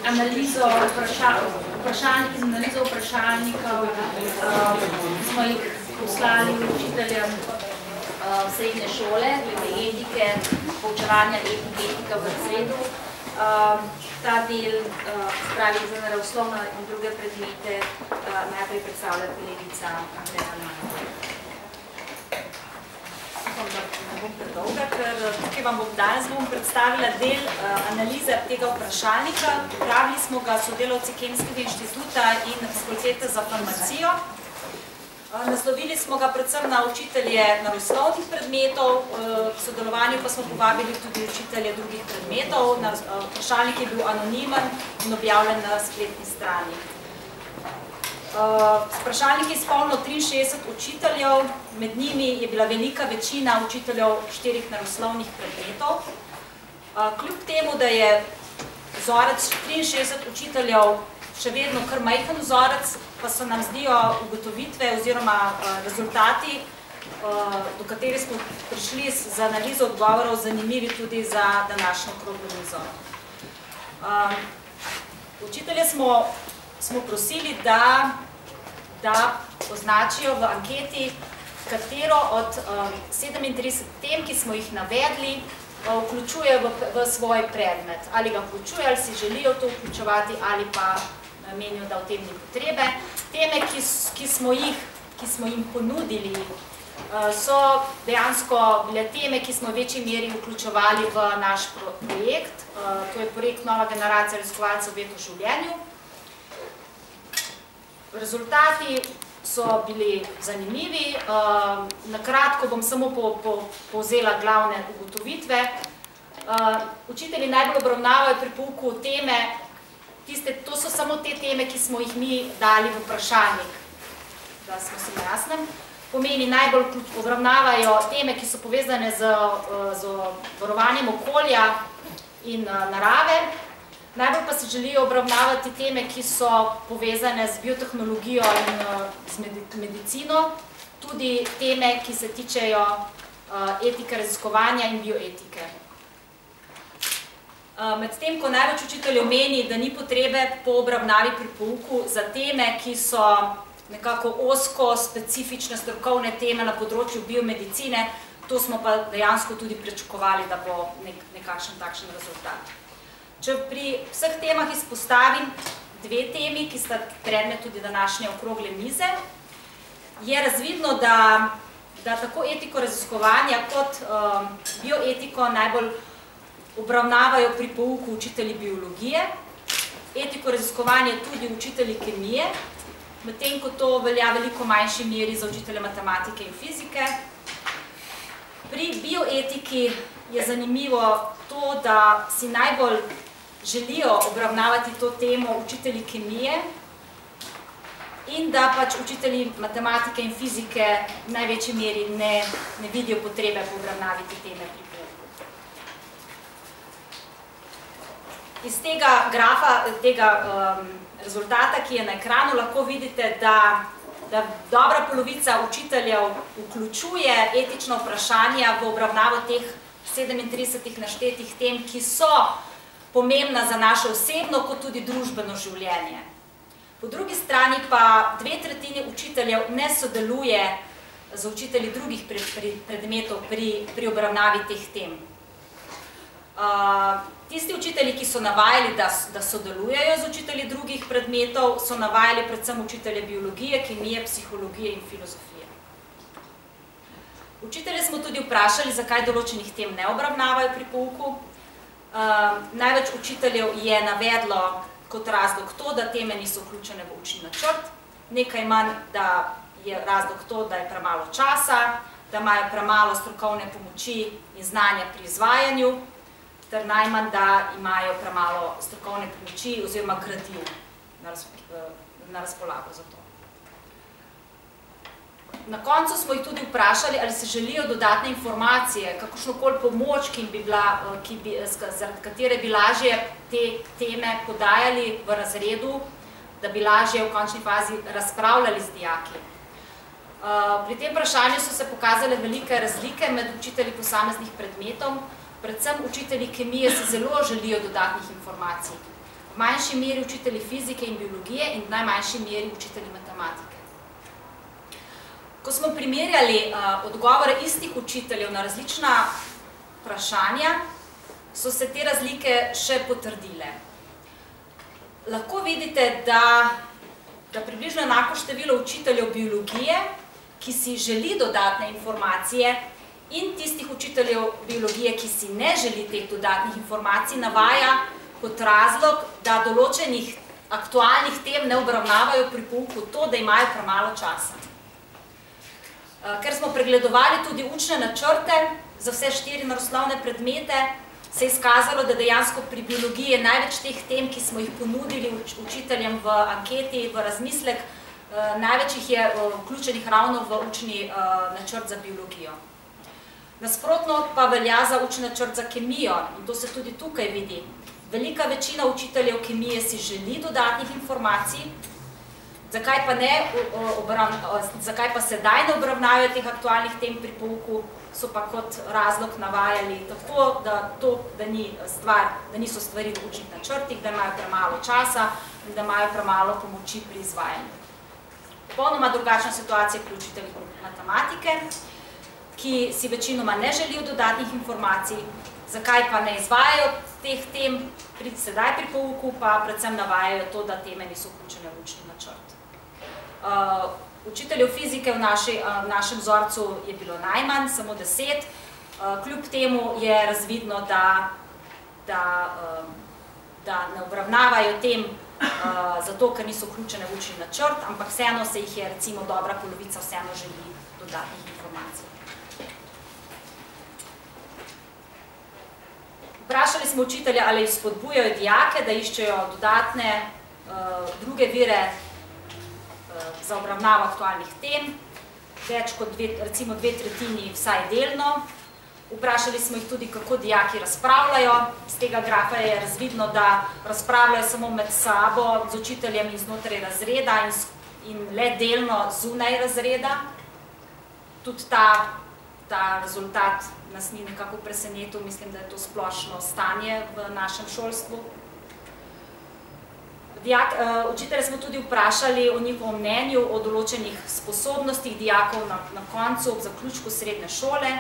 analizo vprašalnikov, smo jih poslali učiteljem srednje šole, glede etike, poučevanja etika v razredu. Ta del, spravi za naravoslovno in druge predmete, najprej predstavlja kolegica Andreja Manova. Upam, da ne bom predolga, ker tukaj vam danes bom predstavila del analize tega vprašalnika. Pripravili smo ga sodelavci Kemijskega inštituta in Fakultete za farmacijo. Naslovili smo ga predvsem na učitelje naravoslovnih predmetov, k sodelovanju pa smo povabili tudi učitelje drugih predmetov. Vprašalnik je bil anonimen in objavljen na spletni strani. Vprašalnik je izpolnilo 63 učiteljev, med njimi je bila velika večina učiteljev 4 naravoslovnih predmetov. Kljub temu, da je vzorec 63 učiteljev še vedno kar majhen vzorec, pa so nam zdijo ugotovitve oziroma rezultati, do katerih smo prišli z analizo odgovorov, zanimivi tudi za današnjo okroglo mizo. Učitelje smo prosili, da označijo v anketi, katero od 37 tem, ki smo jih navedli, vključuje v svoj predmet. Ali ga vključuje, ali si želijo to vključevati, ali pa menijo, da v tem ni potrebe. Teme, ki smo jim ponudili, so dejansko bile teme, ki smo v večji meri vključevali v naš projekt. To je projekt Nova generacija raziskovalcev v življenju. Rezultati so bili zanimivi. Na kratko bom samo povzela glavne ugotovitve. Učitelji najbolj obravnavajo pri pouku teme, to so samo te teme, ki smo jih mi dali v vprašalnik, da smo si na jasnem. Pomeni, najbolj obravnavajo teme, ki so povezane z varovanjem okolja in narave. Najbolj pa se želijo obravnavati teme, ki so povezane z biotehnologijo in z medicino, tudi teme, ki se tičejo etike raziskovanja in bioetike. Medtem, ko največ učiteljev meni, da ni potrebe po obravnavi pri pouku za teme, ki so nekako ozko specifične strokovne teme na področju biomedicine, to smo pa dejansko tudi pričakovali, da bo nekakšen takšen rezultat. Če pri vseh temah izpostavim 2 temi, ki sta predmet tudi današnje okrogle mize, je razvidno, da tako etiko raziskovanja kot bioetiko najbolj obravnavajo pri pouku učitelji biologije, etiko raziskovanja tudi učitelji kemije, medtem ko to velja veliko manjši meri za učitelje matematike in fizike. Pri bioetiki je zanimivo to, da si najbolj želijo obravnavati to temo učitelji kemije in da pač učitelji matematike in fizike v največji meri ne vidijo potrebe po obravnavi te teme pri pouku. Iz tega grafa, tega rezultata, ki je na ekranu, lahko vidite, da dobra polovica učiteljev vključuje etična vprašanja v obravnavo teh 37 naštetih tem, ki so pomembna za naše osebno kot tudi družbeno življenje. Po drugi strani pa 2/3 učiteljev ne sodeluje z učitelji drugih predmetov pri obravnavi teh tem. Tisti učitelji, ki so navajali, da sodelujejo z učitelji drugih predmetov, so navajali predvsem učitelje biologije, kemije, psihologije in filozofije. Učitelje smo tudi vprašali, zakaj določenih tem ne obravnavajo pri pouku. Največ učiteljev je navedlo kot razlog to, da teme niso vključene v učni načrt, nekaj manj, da je razlog to, da je premalo časa, da imajo premalo strokovne pomoči in znanja pri izvajanju, ter najmanj, da imajo premalo strokovne pomoči oziroma gradiv na razpolago za to. Na koncu smo jih tudi vprašali, ali se želijo dodatne informacije, kakršnokoli pomoč, zaradi katere bi lažje te teme podajali v razredu, da bi lažje v končni fazi razpravljali z dijaki. Pri tem vprašanju so se pokazale velike razlike med učitelji posameznih predmetov. Predvsem učitelji kemije si zelo želijo dodatnih informacij. v manjši meri učitelji fizike in biologije in v najmanjši meri učitelji matematike. Ko smo primerjali odgovore istih učiteljev na različna vprašanja, so se te razlike še potrdile. Lahko vidite, da približno enako število učiteljev biologije, ki si želi dodatne informacije, in tistih učiteljev biologije, ki si ne želi teh dodatnih informacij, navaja kot razlog, da določenih aktualnih tem ne obravnavajo pri pouku to, da imajo premalo časa. Ker smo pregledovali tudi učne načrte za vse 4 naravoslovne predmete, se je izkazalo, da dejansko pri biologiji je največ teh tem, ki smo jih ponudili učiteljem v anketi, v razmislek, največ jih je vključenih ravno v učni načrt za biologijo. Nasprotno pa velja za učni načrt za kemijo in to se tudi tukaj vidi. Velika večina učiteljev kemije si želi dodatnih informacij, zakaj pa sedaj ne obravnavajo teh aktualnih tem pri pouku, so pa kot razlog navajali tako, da niso stvari v učnih načrtih, da imajo premalo časa in da imajo premalo pomoči pri izvajanju. Popolnoma drugačna situacija pri učiteljih matematike, ki si večinoma ne želijo dodatnih informacij, zakaj pa ne izvajajo teh tem sedaj pri pouku, pa predvsem navajajo to, da teme niso vključene v učni načrt. Učiteljev fizike v našem vzorcu je bilo najmanj, samo 10. Kljub temu je razvidno, da ne obravnavajo tem zato, ker niso vključene v učni načrt, ampak vseeno se jih je recimo dobra polovica vseeno želi dodatnih informacij. Vprašali smo učitelje, ali spodbujajo dijake, da iščejo dodatne druge vire za obravnavo aktualnih tem, več kot recimo 2/3 vsaj delno. Vprašali smo jih tudi, kako dijaki razpravljajo. Z tega grafa je razvidno, da razpravljajo samo med sabo, z učiteljem in znotraj razreda in le delno zunaj razreda. Tudi ta rezultat nas ni nekako presenetil, mislim, da je to splošno stanje v našem šolstvu. Učitelje smo tudi vprašali o njihovem mnenju o določenih sposobnostih dijakov na koncu, ob zaključku srednje šole.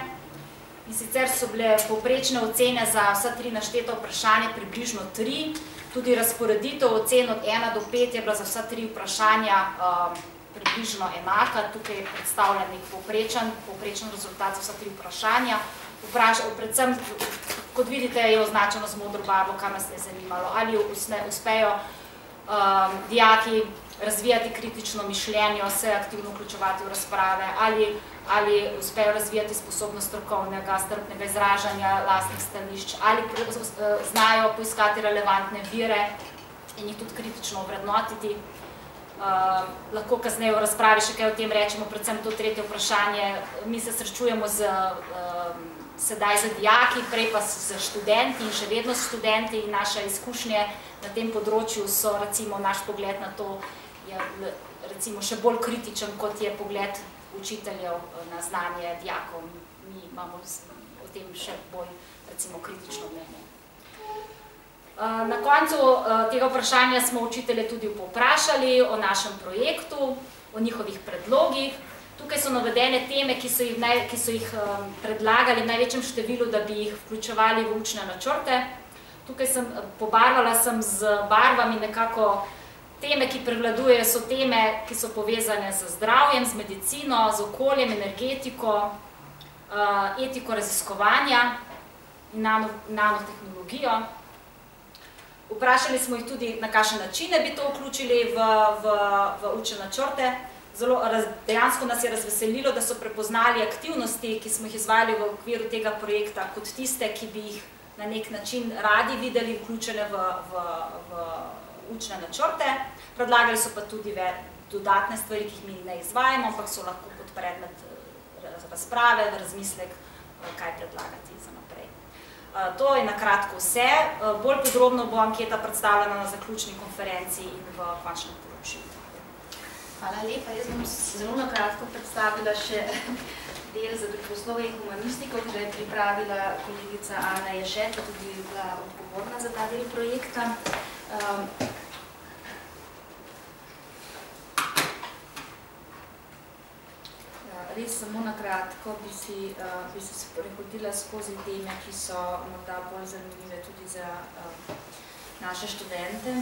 In sicer so bile povprečne ocene za vsa 3 našteta vprašanja približno 3. Tudi razporeditev ocen od 1 do 5 je bila za vsa 3 vprašanja približno enaka. Tukaj je predstavljen nek povprečen rezultat za vsa 3 vprašanja. Predvsem, kot vidite, je označeno z modro barvo, kar nas je zanimalo. Ali uspejo dijaki razvijati kritično mišljenje, se aktivno vključevati v razprave, ali uspejo razvijati sposobnost strokovnega, strpnega izražanja lastnih stališč, ali znajo poiskati relevantne vire in jih tudi kritično ovrednotiti. Lahko kasneje v razpravi še kaj o tem rečemo, predvsem to 3. vprašanje. Mi se srečujemo sedaj z dijaki, prej pa z študenti in še vedno s študenti in naše izkušnje na tem področju so, recimo, naš pogled na to je recimo še bolj kritičen, kot je pogled učiteljev na znanje dijakov. Mi imamo o tem še bolj, recimo, kritično mnenje. Na koncu tega vprašanja smo učitelje tudi povprašali o našem projektu, o njihovih predlogih. Tukaj so navedene teme, ki so jih predlagali v največjem številu, da bi jih vključevali v učne načrte. Tukaj pobarvala sem z barvami nekako teme, ki prevladujejo, so teme, ki so povezane z zdravjem, z medicino, z okoljem, energetiko, etiko raziskovanja in nanotehnologijo. Vprašali smo jih tudi, na kakšne načine bi to vključili v učne načrte. Dejansko nas je razveselilo, da so prepoznali aktivnosti, ki smo jih izvajali v okviru tega projekta, kot tiste, ki bi jih na nek način radi videli vključene v učne načrte. Predlagali so pa tudi dodatne stvari, ki jih mi ne izvajamo, ampak so lahko kot predmet razprave, razmislek, kaj predlagati za naprej. To je na kratko vse. Bolj podrobno bo anketa predstavljena na zaključni konferenci in v končnem poročilu. Hvala lepa. Jaz bom zelo na kratko predstavila še del za družboslovje in humanistiko, ki ga je pripravila kolegica Ana Ježet, ki je tudi bila odgovorna za ta del projekta. Res samo na kratko bi se prehodila skozi teme, ki so morda bolj zanimive tudi za naše študente.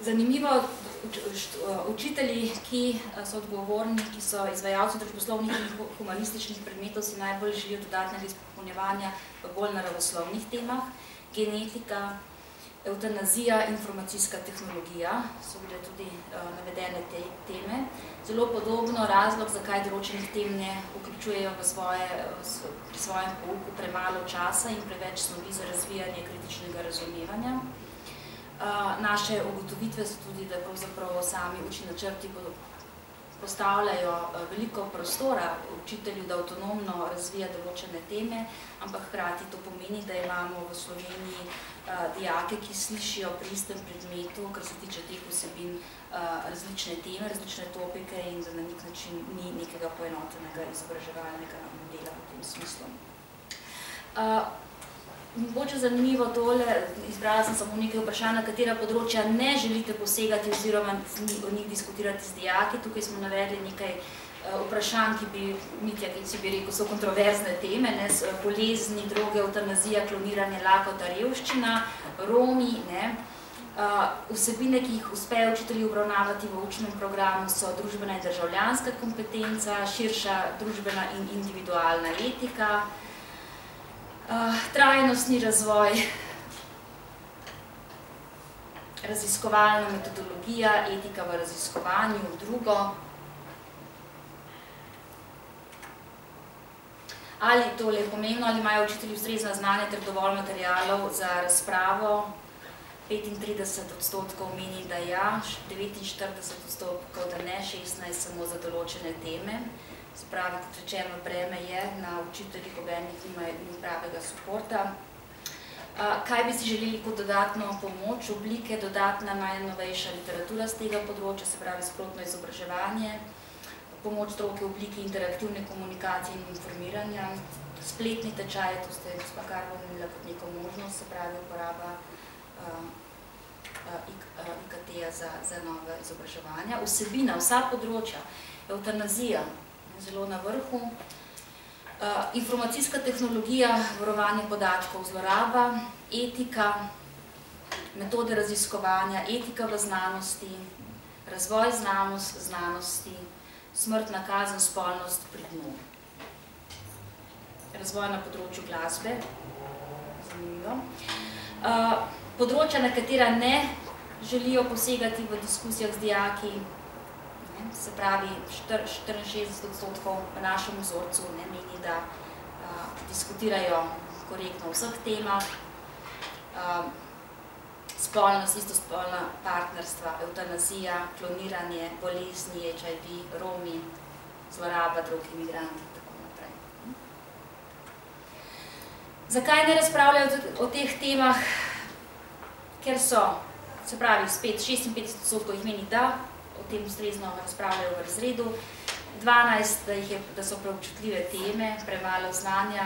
Zanimivo, učitelji, ki so odgovorni, ki so izvajalci družboslovnih in humanističnih predmetov, si najbolj želijo dodatnega izpopolnjevanja v bolj naravoslovnih temah. Genetika, evtanazija, informacijska tehnologija so bile tudi navedene te teme. Zelo podobno razlog, zakaj določenih tem ne vključujejo pri svojem pouku premalo časa in preveč snovi za razvijanje kritičnega razumevanja. Naše ugotovitve so tudi, da pravzaprav sami učni načrti postavljajo veliko prostora učitelju, da avtonomno razvija določene teme, ampak hkrati to pomeni, da imamo v Sloveniji dijake, ki slišijo pri istem predmetu, kar se tiče teh vsebin, različne teme, različne topike in da na nek način ni nekega poenotenega izobraževalnega modela v tem smislu. Mogoče zanimivo tole, izbrala sem samo nekaj vprašanj, na katera področja ne želite posegati oziroma o njih diskutirati z dijaki. Tukaj smo navedli nekaj vprašanj, ki bi, Mitja, ki si bi rekel, so kontroverzne teme, bolezni, droge, evtanazija, kloniranje, lakota, revščina, Romi, vsebine, ki jih uspejo učitelji obravnavati v učnem programu, so družbena in državljanska kompetenca, širša družbena in individualna etika, trajnostni razvoj, raziskovalna metodologija, etika v raziskovanju, drugo. Ali tole je pomembno, ali imajo učitelji ustrezna znanja ter dovolj materialov za razpravo? 35% meni, da ja, 49% da ne, 16% samo za določene teme. Se pravi, kot rečeno, breme je na učiteljih, obenih ni pravega suporta. Kaj bi si želeli kot dodatno pomoč? Oblike, dodatna najnovejša literatura z tega področja, se pravi sprotno izobraževanje, pomoč stroke v obliki interaktivne komunikacije in informiranja, spletni tečaj, to ste gospa Karlo omenila kot neko možnost, se pravi uporaba IKT-ja za nove izobraževanja. Vsebina, vsa področja, evtanazija, zelo na vrhu, informacijska tehnologija, varovanje podatkov, zloraba, etika, metode raziskovanja, etika v znanosti, razvoj znanosti, smrtna kazen, spolnost pri dnu. Razvoj na področju glasbe, zanimivo. Področja, na katera ne želijo posegati v diskusijah z dijaki, se pravi 64% v našem vzorcu meni, da diskutirajo korektno o vseh temah, spolnost, istospolna partnerstva, evtanazija, kloniranje, bolezni, HIV, Romi, zloraba drog, imigranti in tako naprej. Zakaj ne razpravljajo o teh temah? Ker so, se pravi, spet 56% jih meni, da o tem ustrezno razpravljajo v razredu, 12% da so preobčutljive teme, premalo znanja,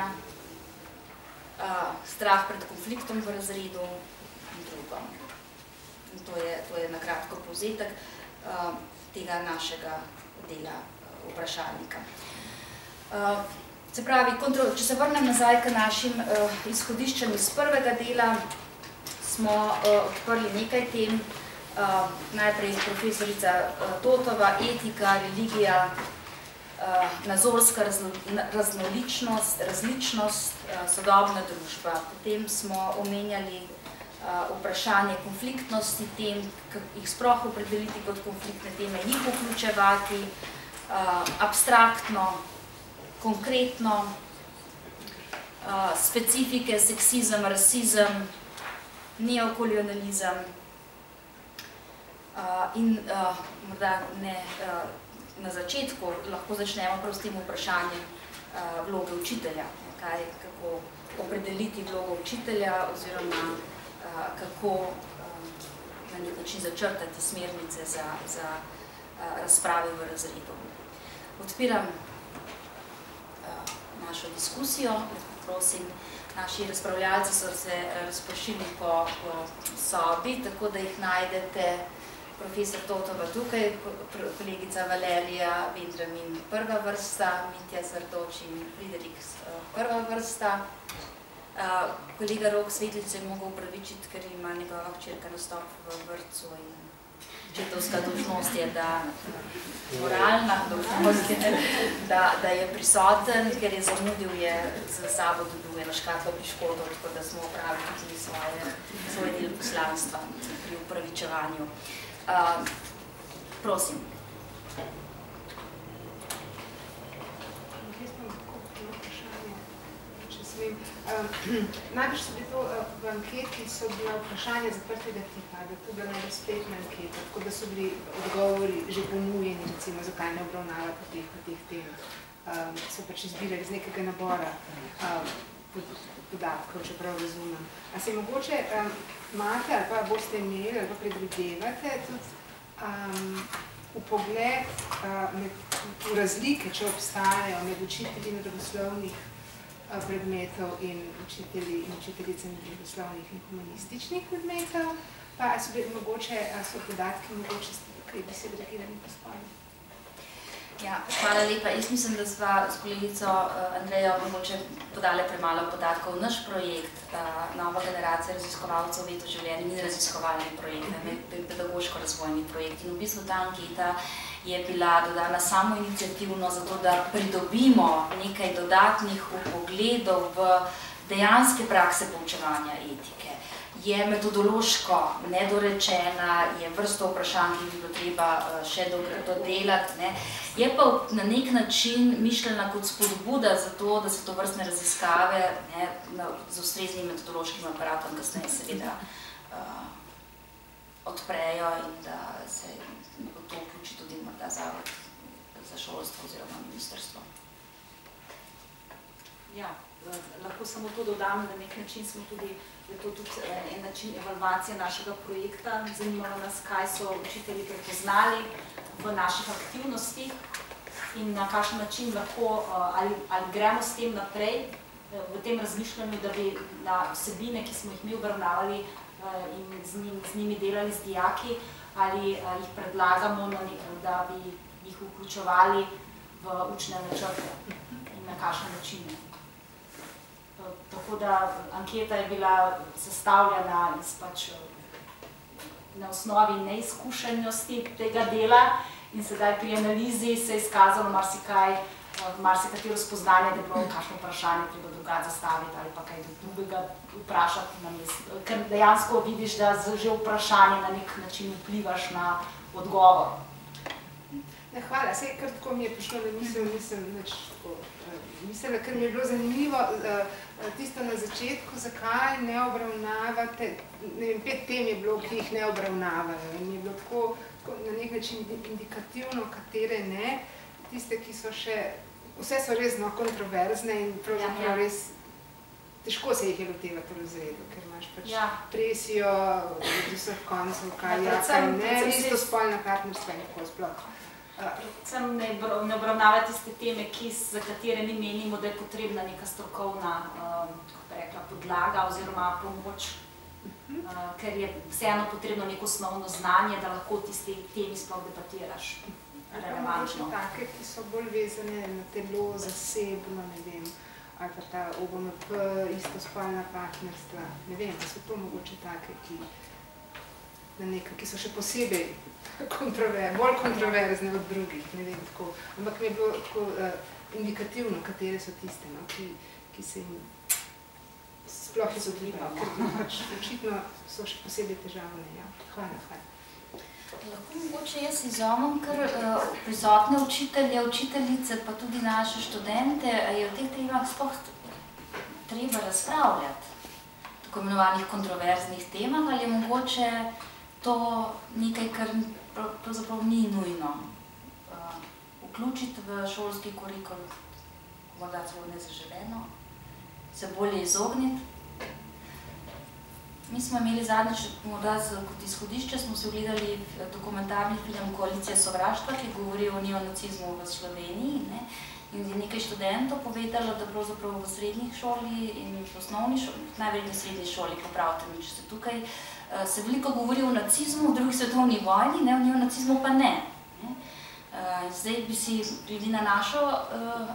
strah pred konfliktom v razredu in drugo. In to je na kratko povzetek tega našega dela vprašalnika. Se pravi, če se vrnem nazaj k našim izhodiščem iz prvega dela, smo odprli nekaj tem. Najprej profesorica Totova, etika, religija, nazorska raznoličnost, različnost, sodobna družba. Potem smo omenjali vprašanje konfliktnosti tem, jih sploh opredeliti kot konfliktne teme, jih vključevati, abstraktno, konkretno, specifike, seksizem, rasizem, neokolonializem, in morda na začetku lahko začnemo prav s tem vprašanjem vloge učitelja, kako opredeliti vlogo učitelja oziroma kako na nek način začrtati smernice za razprave v razredu. Odpiram našo diskusijo, prosim Naši razpravljalci so se razpršili po sobi, tako da jih najdete profesor Totova tukaj, kolegica Valerija Vendramin prva vrsta, Mitja Zardoč in Friderik prva vrsta. Kolega Rok Svetlič se je mogel upravičiti, ker ima njegova hčerka nastop v vrtcu in očetovska dolžnost je, moralna dolžnost je, da je prisoten, ker je zamudil, je za sabo dobil eno škatlo piškotov, tako da smo opravili tudi svoj del poslanstva pri upravičevanju. Prosim. Najprej so bili to v anketi, so bila vprašanja zaprtega tipa, da to bila najbolj spletna anketa, tako da so bili odgovori že ponujeni, recimo, zakaj ne obravnavati po teh tem. So pač izbirali iz nekega nabora podatkov, če prav razumem. A se mogoče imate ali pa boste imeli ali pa predvidevate tudi vpogled v razlike, če obstajajo med učitelji naravoslovnih predmetov in učiteljicami družboslovnih in humanističnih predmetov, pa so podatki mogoče, kaj bi se reagirali po spolni? Ja, hvala lepa. Jaz mislim, da sva s kolegico Andrejo mogoče podale premalo podatkov. Naš projekt, Nova generacija raziskovalcev Veto življenja, ni raziskovalni projekt, je pedagoško-razvojni projekt. In v bistvu ta anketa je bila dodana samo iniciativno zato, da pridobimo nekaj dodatnih vpogledov v dejanske prakse poučevanja etike. Je metodološko nedorečena, je vrsto vprašanj, ki bi bilo treba še dodelati. Je pa na nek način mišljena kot spodbuda za to, da se to vrstne raziskave z ustreznim metodološkim aparatom kasneje seveda odprejo in da se v to vključi tudi morda Zavod za šolstvo oziroma ministrstvo. Ja, lahko samo to dodam, da nek način smo tudi, je to tudi en način evalvacije našega projekta. Zanimalo nas, kaj so učitelji prepoznali v naših aktivnostih in na kakšen način lahko, ali gremo s tem naprej, v tem razmišljanju, da bi na vsebine, ki smo jih mi obravnavali in z njimi delali z dijaki, ali jih predlagamo, da bi jih vključevali v učne načrte in na kakšen način. Tako da anketa je bila sestavljena na osnovi neizkušenosti tega dela in sedaj pri analizi se je izkazalo marsikatero spoznanje, da je bilo kakšno vprašanje treba drugače zastaviti ali pa kaj drugega vprašati na mestu. Ker dejansko vidiš, da že vprašanje na nek način vplivaš na odgovor. Hvala, saj kar tako mi je prišlo, da mislila, ker mi je bilo zanimivo tisto na začetku, zakaj ne obravnavate, ne vem, 5 tem je bilo, ki jih ne obravnavajo in je bilo tako na nek način indikativno, katere ne, tiste, ki so še, vse so res kontroverzne in pravzaprav res težko se jih je lotevati v razredu, ker imaš pač presijo od vseh koncev, kaj ne, istospolna partnerstva in tako sploh. Predvsem ne obravnava tiste teme, za katere mi menimo, da je potrebna neka strokovna podlaga oziroma pomoč, ker je vseeno potrebno neko osnovno znanje, da lahko o tisti temi sploh debatiraš relevantno. Take, ki so bolj vezane na telo, zasebno, ne vem, ali pa ta OBMP, istospolna partnerstva, ne vem, da so to mogoče take, ki so še posebej bolj kontroverzne od drugih, ne vem, tako. Ampak mi je bilo tako indikativno, katere so tiste, ki se jim sploh izogibajo, ker pač očitno so še posebej težavne. Hvala. Lahko mogoče jaz izomem, ker prisotne učitelje, učiteljice, pa tudi naše študente, je v teh temah sploh treba razpravljati, tako imenovanih kontroverznih temah, ali je mogoče to nekaj, kar pravzaprav ni nujno vključiti v šolski kurikul, morda celo nezaželeno, se bolje izogniti. Mi smo imeli zadnjič, morda kot izhodišče, smo se ogledali dokumentarni film Koalicija sovraštva, ki govori o neonacizmu v Sloveniji, ne? In je nekaj študentov povedalo, da pravzaprav v srednjih šoli in v osnovni šoli, najverjetneje v srednji šoli, popravite mi, če ste tukaj, se veliko govori o nacizmu v drugi svetovni vojni, ne, o neonacizmu pa ne. Zdaj bi si glede na našo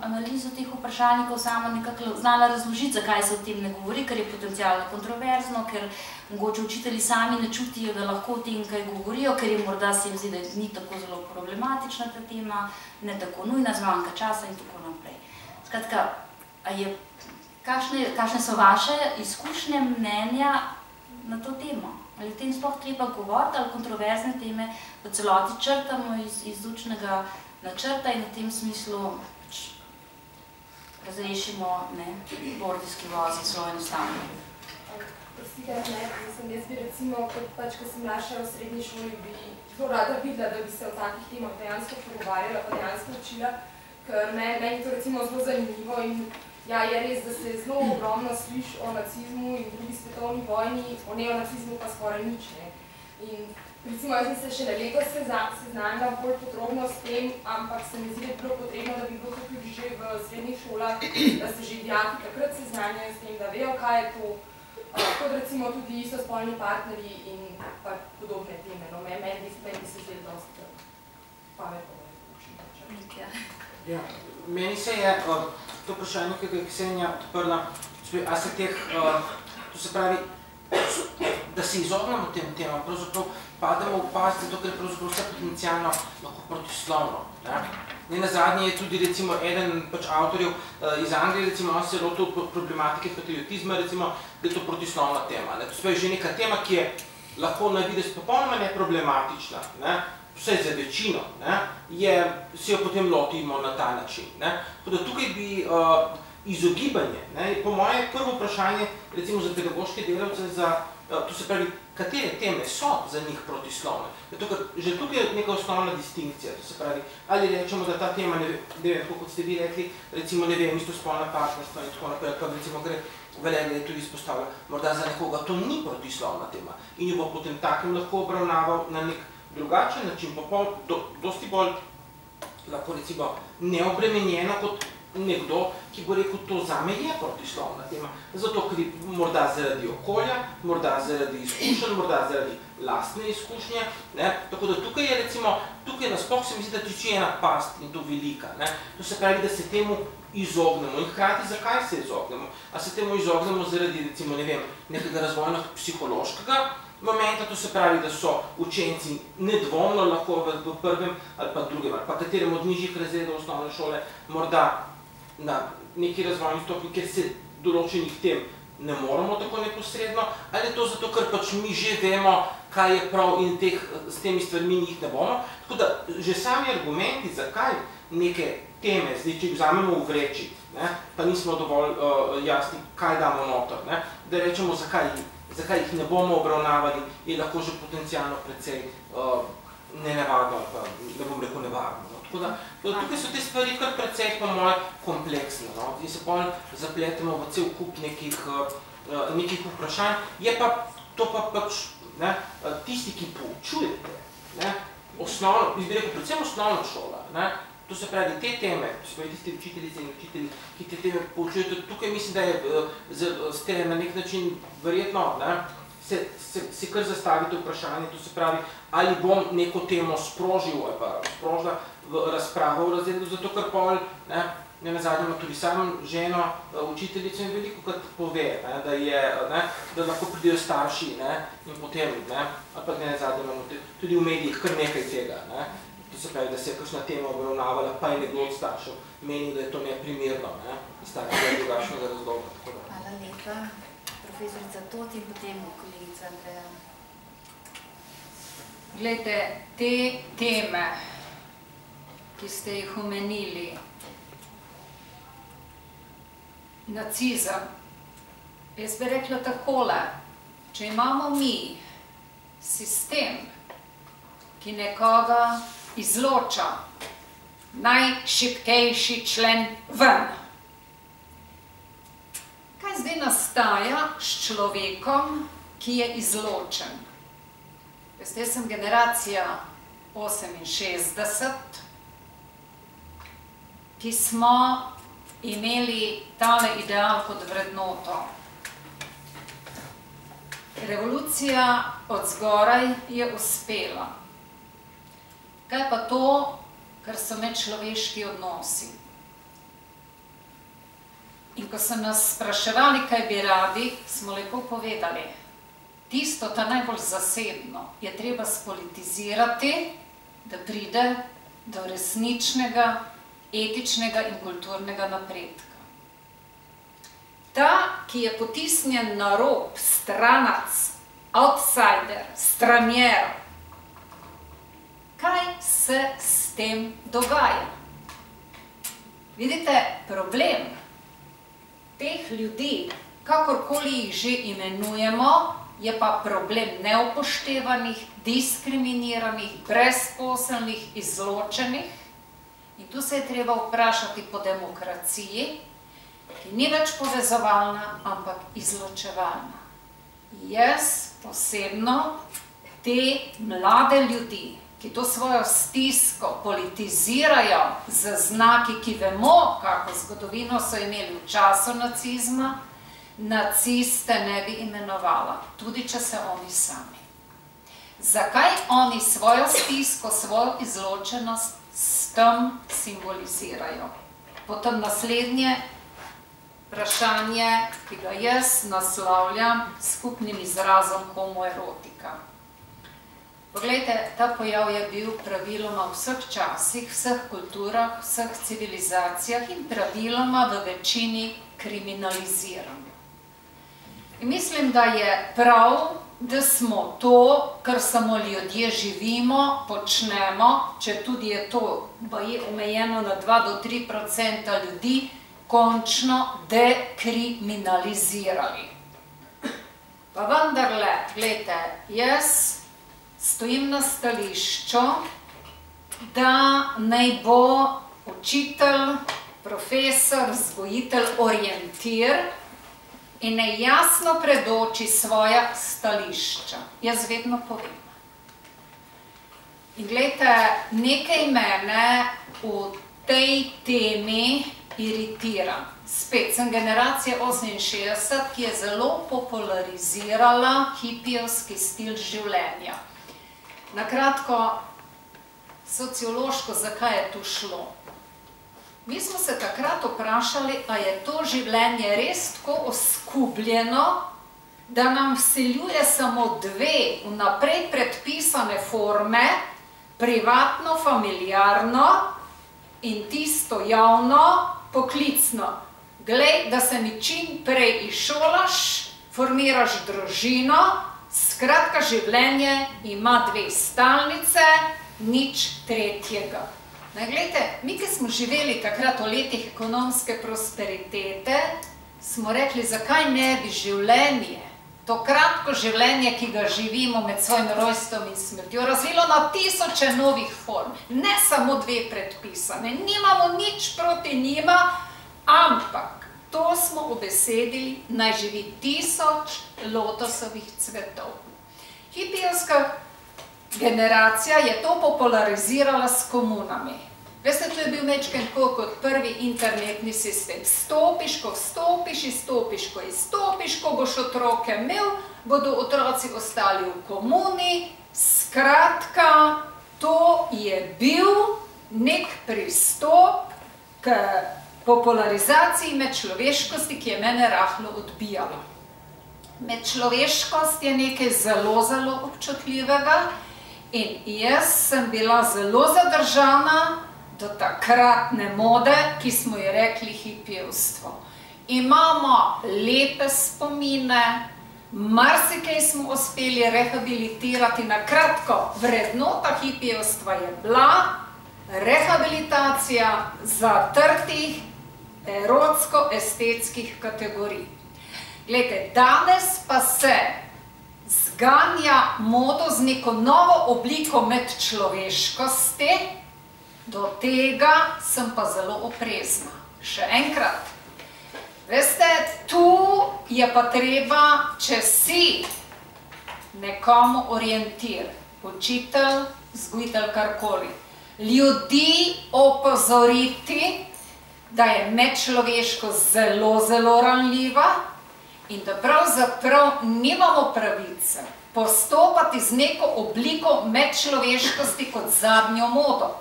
analizo teh vprašalnikov samo nekako znala razložiti, zakaj se o tem ne govori, ker je potencialno kontroverzno, ker mogoče učitelji sami ne čutijo, da lahko o tem kaj govorijo, ker je morda se jim zdi, da ni tako zelo problematična ta tema, ne tako nujna, zmanjka časa in tako naprej. Skratka, kakšne so vaše izkušnje, mnenja na to temo? Ali o tem sploh treba govoriti, ali kontroverzne teme v celoti črtamo iz učnega načrta in v tem smislu razrešimo gordijski vozi zelo enostavno. Jaz bi recimo, ko sem mlajša v srednji šoli, bi zelo rada videla, da bi se o takih temah dejansko pogovarjala, pa dejansko učila, ker meni je to recimo zelo zanimivo in ja, je res, da se zelo ogromno sliši o nacizmu in drugi svetovni vojni, o neonacizmu pa skoraj nič, ne. In recimo, jaz sem se še na leto seznanila bolj podrobno s tem, ampak se mi zdi, da bi bilo potrebno, da bi bilo to tudi že v srednjih šolah, da se že dijaki takrat seznanjajo s tem, da vejo, kaj je to, kot recimo tudi istospolni partnerji in pa podobne teme. No, meni bi se zdelo dosti pametno. Ja, meni se je to vprašanje, ki je Ksenija odprla, a se teh, to se pravi, da se izognemo tem temam, pravzaprav pademo v past, zato ker je pravzaprav vse potencialno lahko protislovno. Nenazadnje je tudi recimo eden avtorjev iz Anglije, recimo on se je lotil problematike patriotizma, recimo, da je to protislovna tema. To se pravi že neka tema, ki je lahko na videz popolnoma neproblematična, vsaj za večino, se jo potem lotimo na ta način. Tako da tukaj bi izogibanje, po moje prvo vprašanje, recimo za pedagoške delavce, to se pravi, katere teme so za njih protislovne. Že tukaj je neka osnovna distinkcija, to se pravi, ali rečemo, da ta tema, ne vem, kot ste vi rekli, recimo, ne vem, istospolna partnerstva in tako naprej, pa recimo gre Valerija je tudi izpostavila, morda za nekoga to ni protislovna tema in jo bo potem takem lahko obravnaval na nek drugačen način, pa dosti bolj lahko recimo neobremenjeno kot nekdo, ki bo rekel, to zame je protislovna tema. Zato, ker morda zaradi okolja, morda zaradi izkušenj, morda zaradi lastne izkušnje. Tako da tukaj je recimo, tukaj nasploh se mi zdi, da tiči ena past in to velika. To se pravi, da se temu izognemo. In hkrati, zakaj se izognemo? A se temu izognemo zaradi, recimo, ne vem, nekega razvojno-psihološkega momenta, to se pravi, da so učenci nedvomno lahko v prvem ali pa drugem, ali pa katerem od nižjih razredov osnovne šole, morda na neki razvojni stopnji, kjer se določenih tem ne moramo tako neposredno, ali je to zato, ker pač mi že vemo, kaj je prav in s temi stvarmi njih ne bomo. Tako da že sami argumenti, zakaj neke teme, zdaj, če jih vzamemo v vreči, pa nismo dovolj jasni, kaj damo noter, da rečemo, zakaj jih ne bomo obravnavali, je lahko že potencialno precej nenavadno, ali pa ne bom rekel nevarno. Tako da tukaj so te stvari kar precej po moje kompleksne. Zdaj se bolj zapletemo v cel kup nekih vprašanj. Je pa to pa pač tisti, ki poučujete, predvsem osnovna šola, to se pravi te teme, tisti učiteljice in učitelji, ki te teme poučujete, tukaj mislim, da ste na nek način verjetno si kar zastavite vprašanje, to se pravi, ali bom neko temo sprožil ali pa sprožila v razpravo v razredu, zato ker pol, nenazadnje ima tudi sam ženo učiteljico in veliko krat pove, da lahko pridejo starši in potem, ali pa nenazadnje imamo tudi v medijih kar nekaj tega, to se pravi, da se je kakšna tema obravnavala, pa je nekdo od staršev menil, da je to neprimerno, iz takega drugačnega razloga. Hvala lepa. Profesorica Tot in potem kolegica Andreja. Glejte, te teme, ki ste jih omenili, nacizem, jaz bi rekla takole, če imamo mi sistem, ki nekoga izloča, najšibkejši člen ven, kaj zdaj nastaja s človekom, ki je izločen. Veste, jaz sem generacija 68, ki smo imeli tale ideal kot vrednoto. Revolucija od zgoraj je uspela. Kaj pa to, kar so medčloveški odnosi? In ko so nas spraševali, kaj bi radi, smo lepo povedali, tisto, ta najbolj zasebno, je treba spolitizirati, da pride do resničnega, etičnega in kulturnega napredka. Ta, ki je potisnjen na rob, stranac, outsider, stranjer, kaj se s tem dogaja? Vidite, problem teh ljudi, kakorkoli jih že imenujemo, je pa problem neupoštevanih, diskriminiranih, brezposelnih, izločenih. In tu se je treba vprašati po demokraciji, ki ni več povezovalna, ampak izločevalna. Jaz osebno te mlade ljudi, ki to svojo stisko politizirajo z znaki, ki vemo, kako zgodovino so imeli v času nacizma, naciste ne bi imenovala, tudi če se oni sami. Zakaj oni svojo stisko, svojo izločenost s tem simbolizirajo? Potem naslednje vprašanje, ki ga jaz naslavljam s skupnim izrazom homoerotika. Poglejte, ta pojav je bil praviloma v vseh časih, vseh kulturah, vseh civilizacijah in praviloma v večini kriminaliziran. In mislim, da je prav, da smo to, kar samo ljudje živimo, počnemo, če tudi je to omejeno na 2 do 3% ljudi, končno dekriminalizirali. Pa vendarle, gledajte, jaz stojim na stališču, da naj bo učitelj, profesor, vzgojitelj orientir in naj jasno predoči svoja stališča. Jaz vedno povem. In gledajte, nekaj mene v tej temi iritira. Spet sem generacija 68, ki je zelo popularizirala hipijevski stil življenja. Na kratko, sociološko, zakaj je tu šlo? Mi smo se takrat vprašali, a je to življenje res tako oskubljeno, da nam vsiljuje samo 2 vnaprej predpisane forme, privatno, familiarno in tisto javno, poklicno. Glej, da se mi čim prej izšolaš, formiraš družino, skratka, življenje ima 2 stalnice, nič tretjega. Glejte, mi, ki smo živeli takrat v letih ekonomske prosperitete, smo rekli, zakaj ne bi življenje, to kratko življenje, ki ga živimo med svojim rojstvom in smrtjo, razvilo na tisoče novih form, ne samo 2 predpisane, nimamo nič proti njima, ampak to smo ubesedili, naj živi 1000 lotosovih cvetov. Hipijevska generacija je to popularizirala s komunami. Veste, to je bil mečken tako kot prvi internetni sistem. Vstopiš, ko vstopiš, izstopiš, ko izstopiš, ko boš otroke imel, bodo otroci ostali v komuni. Skratka, to je bil nek pristop k popularizaciji medčloveškosti, ki je mene rahlo odbijala. Medčloveškost je nekaj zelo, zelo občutljivega in jaz sem bila zelo zadržana do takratne mode, ki smo ji rekli hipijevstvo. Imamo lepe spomine, marsikaj smo uspeli rehabilitirati. Na kratko, vrednota hipijevstva je bila rehabilitacija zatrtih erotsko-estetskih kategorij. Glejte, danes pa se zganja modo z neko novo obliko medčloveškosti, do tega sem pa zelo oprezna. Še enkrat, veste, tu je pa treba, če si nekomu orientir, učitelj, vzgojitelj, karkoli, ljudi opozoriti, da je medčloveškost zelo, zelo ranljiva in da pravzaprav nimamo pravice postopati z neko obliko medčloveškosti kot zadnjo modo.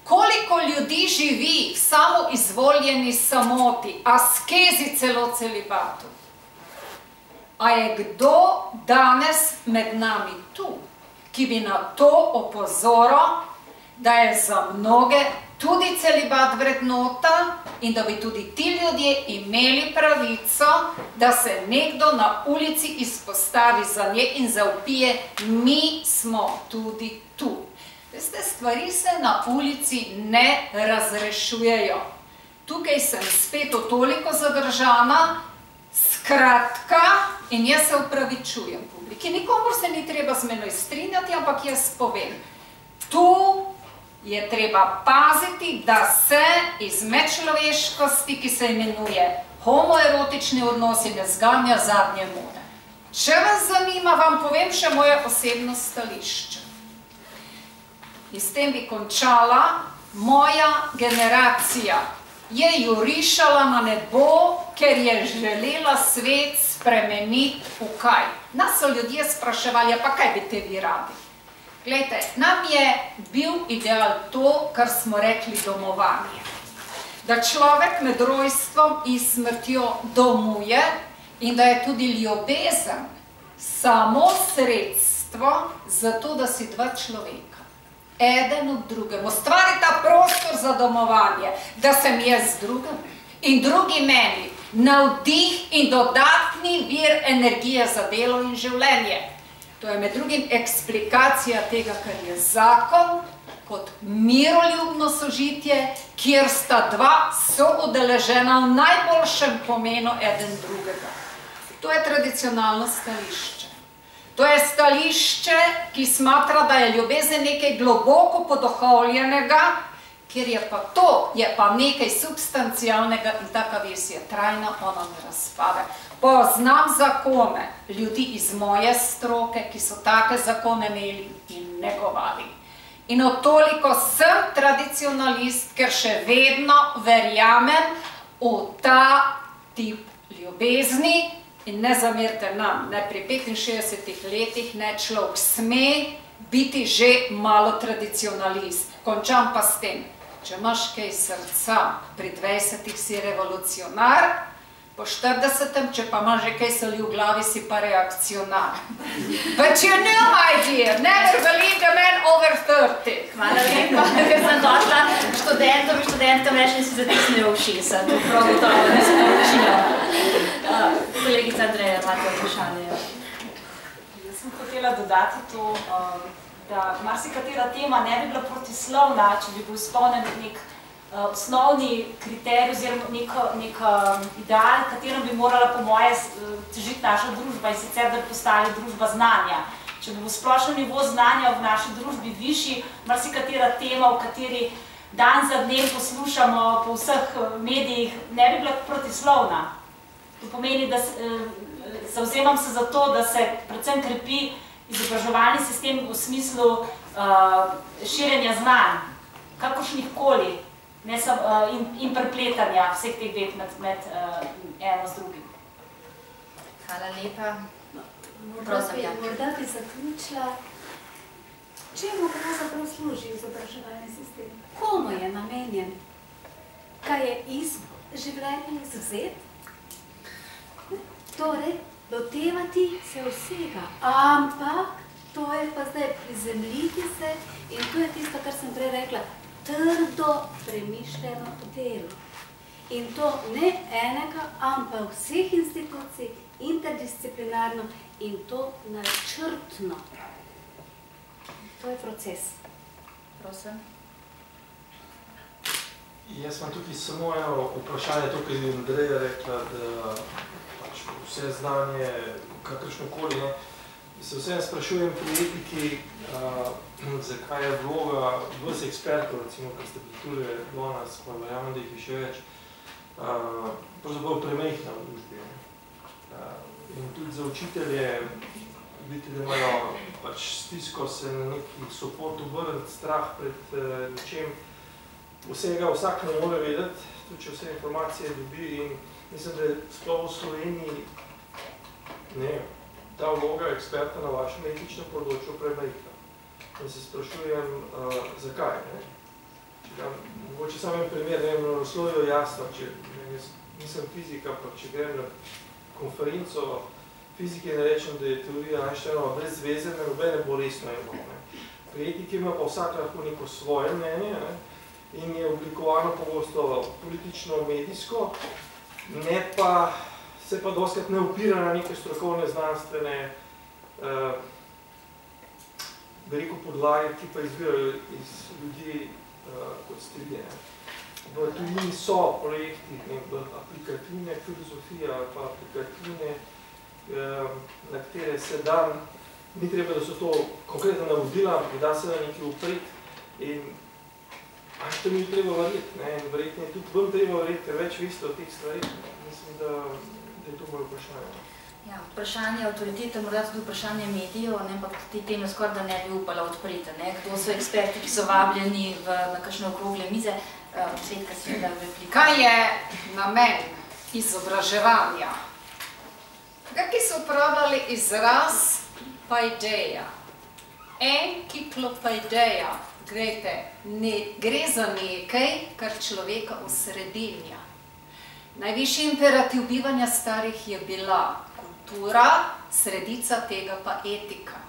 Koliko ljudi živi v samoizvoljeni samoti, askezi, celo celibatu? A je kdo danes med nami tu, ki bi na to opozoril, da je za mnoge tudi celibat vrednota in da bi tudi ti ljudje imeli pravico, da se nekdo na ulici izpostavi za nje in zavpije, mi smo tudi tu. Veste, stvari se na ulici ne razrešujejo. Tukaj sem spet toliko zadržana, skratka, in jaz se upravičujem publiki. Nikomor se ni treba z menoj strinjati, ampak jaz povem, tu je treba paziti, da se iz medčloveškosti, ki se imenuje homoerotični odnosi, ne zganja zadnje mode. Če vas zanima, vam povem še moje osebno stališče. In s tem bi končala, moja generacija je jurišala na nebo, ker je želela svet spremeniti v kaj. Nas so ljudje spraševali, pa kaj bi te vi radi? Glejte, nam je bil ideal to, kar smo rekli domovanje. Da človek med rojstvom in smrtjo domuje in da je tudi ljubezen samo sredstvo za to, da si dva človeka, eden ob drugem, ustvarita prostor za domovanje, da sem jaz drugem in drugi meni navdih in dodatni vir energije za delo in življenje. To je med drugim eksplikacija tega, kar je zakon, kot miroljubno sožitje, kjer sta dva soudeležena v najboljšem pomenu eden drugega. To je tradicionalno stališče. To je stališče, ki smatra, da je ljubezen nekaj globoko poduhovljenega, kjer je pa to, je pa nekaj substancialnega in taka vez je trajna, ona ne razpade. Poznam zakone ljudi iz moje stroke, ki so take zakone imeli in negovali. In toliko sem tradicionalist, ker še vedno verjamem v ta tip ljubezni in ne zamerite nam, ne pri 65 letih ne človek sme biti že malo tradicionalist. Končam pa s tem, če imaš kaj srca, pri 20 si revolucionar, po 40, če pa imaš že kaj soli v glavi, si pa reakcionar. But you know, my dear, never believe a man over 30. Hvala lepa, ker sem došla študentom in študentom reči, da si zatisnejo ušesa. To prav gotovo ne sporočijo. Kolegica Andreja, imate vprašanje? Jaz sem hotela dodati to, da marsikatera tema ne bi bila protislovna, če bi bil izpolnjen nek osnovni kriterij oziroma nek ideal, katerim bi morala po moje težiti naša družba in sicer, da bi postali družba znanja. Če bi v splošnem nivo znanja v naši družbi višji, marsikatera tema, v kateri dan za dnem poslušamo po vseh medijih, ne bi bila protislovna. To pomeni, da zavzemam se za to, da se predvsem krepi izobraževalni sistem v smislu širjenja znanj, kakršnih koli, in prepletanja vseh teh dveh med eno z drugim. Hvala lepa. Morda bi zaključila, čemu pravzaprav služi izobraževalni sistem? Komu je namenjen? Kaj je iz življenja izvzet? Torej, lotevati se vsega, ampak to je pa zdaj prizemljiti se in to je tisto, kar sem prej rekla, trdo premišljeno delo. In to ne enega, ampak vseh institucij, interdisciplinarno in to načrtno. To je proces. Prosim. Jaz imam tukaj samo eno vprašanje, to, kar je Andreja rekla, da vse znanje, kakršnokoli, se vseeno sprašujem pri etiki, zakaj je vloga vseh ekspertov, recimo, kar ste bili do nas, pa verjamem, da jih je še več, pravzaprav premehna v družbi. In tudi za učitelje vidite, da imajo pač stisko se na neki support obrniti, strah pred ničem. Vsega vsak ne more vedeti, tudi če vse informacije dobi in mislim, da je sploh v Sloveniji ta vloga eksperta na vašem etičnem področju premajhna. In se sprašujem, zakaj. Mogoče samo en primer, na naslovu je jasno, če nisem fizik, ampak če grem na konferenco fizike in rečem, da je teorija Einsteinova brez zveze, nobene bo resno imel. Pri etiki ima pa vsak lahko neko svoje mnenje in je oblikovano pogosto politično, medijsko, se pa dostakrat ne opira na neke strokovne, znanstvene podlage, ki pa izbirajo iz ljudi, kot ste vi. V tujini so projekti, aplikativne filozofije ali pa aplikativne, na katere se da, ni treba, da so to konkretno navodila, da se na nekaj upreti in to mi treba verjeti, in verjetno je tudi vam treba verjeti, ker več veste o teh stvarih. Mislim, da je to moje vprašanje. Ja, vprašanje avtoritete, morda tudi vprašanje medijev, ampak te teme skoraj da ne bi upala odpreti. Kdo so eksperti, ki so vabljeni na kakšne okrogle mize? Svetka si da replika. Kaj je namen izobraževanja? Kakšni so uporabljali izraz paideia? Enkiklopaideia. Gre za nekaj, kar človeka osredinja. Najvišji imperativ bivanja starih je bila kultura, sredica tega pa etika.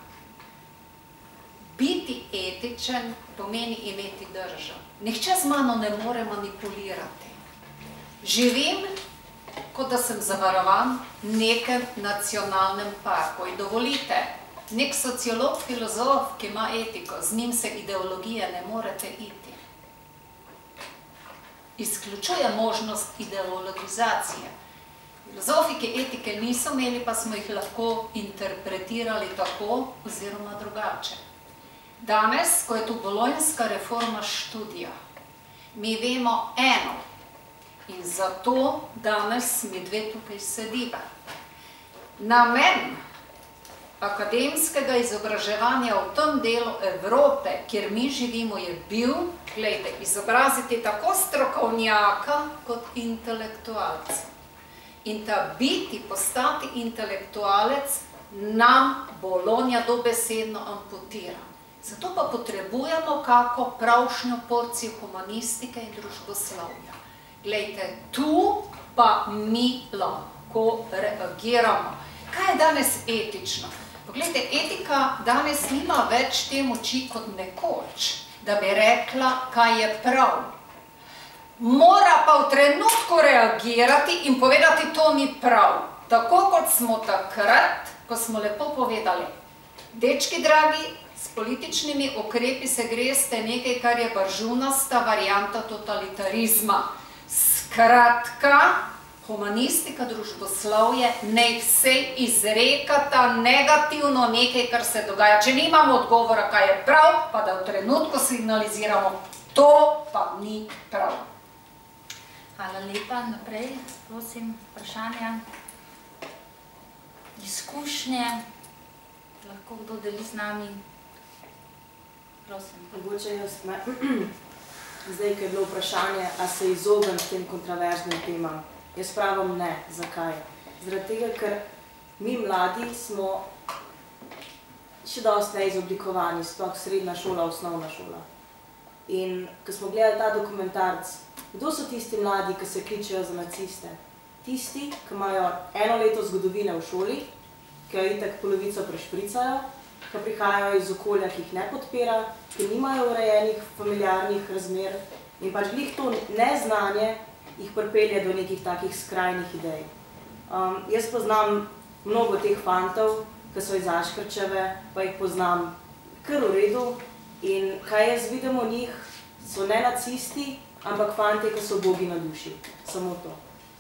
Biti etičen pomeni imeti držo. Nihče z mano ne more manipulirati. Živim, kot da sem zavarovan v nekem nacionalnem parku. In dovolite, nek sociolog, filozof, ki ima etiko, z njim se ideologije ne morete iti. Izključuje možnost ideologizacije. Filozofi, ki etike niso imeli, pa smo jih lahko interpretirali tako oziroma drugače. Danes, ko je tu bolonjska reforma študija, mi vemo eno in zato danes mi dve tukaj sediva. Namen akademskega izobraževanja v tem delu Evrope, kjer mi živimo, je bil, gledajte, izobraziti tako strokovnjaka kot intelektualca. In ta biti, postati intelektualec, nam Bolonja dobesedno amputira. Zato pa potrebujemo kako pravšnjo porcijo humanistike in družboslovja. Glejte, tu pa mi lahko reagiramo. Kaj je danes etično? Poglejte, etika danes nima več te moči kot nekoč, da bi rekla, kaj je prav. Mora pa v trenutku reagirati in povedati, to ni prav. Tako kot smo takrat, ko smo lepo povedali, dečki dragi, s političnimi ukrepi se greste nekaj, kar je baržunasta varianta totalitarizma. Skratka, humanistika, družboslovje, naj vse izrekata negativno nekaj, kar se dogaja. Če nimamo odgovora, kaj je prav, pa da v trenutku signaliziramo, to pa ni prav. Hvala lepa. Naprej, prosim, vprašanja. Izkušnje. Lahko kdo deli z nami? Prosim. Mogoče jaz ne. Zdaj, ko je bilo vprašanje, a se izognem tem kontroverznim temam. Jaz pravim ne. Zakaj? Zaradi tega, ker mi mladi smo še dosti neizoblikovani, sploh srednja šola, osnovna šola. In ko smo gledali ta dokumentarc, kdo so tisti mladi, ki se kličejo za naciste? Tisti, ki imajo eno leto zgodovine v šoli, ki jo itak polovico prešpricajo, ki prihajajo iz okolja, ki jih ne podpira, ki nimajo urejenih familiarnih razmer in pač glih to neznanje jih pripelje do nekih takih skrajnih idej. Jaz poznam mnogo teh fantov, ki so iz Aškrčeve, pa jih poznam kar v redu in kaj jaz vidim o njih, so ne nacisti, ampak fantje, ki so bogi na duši. Samo to.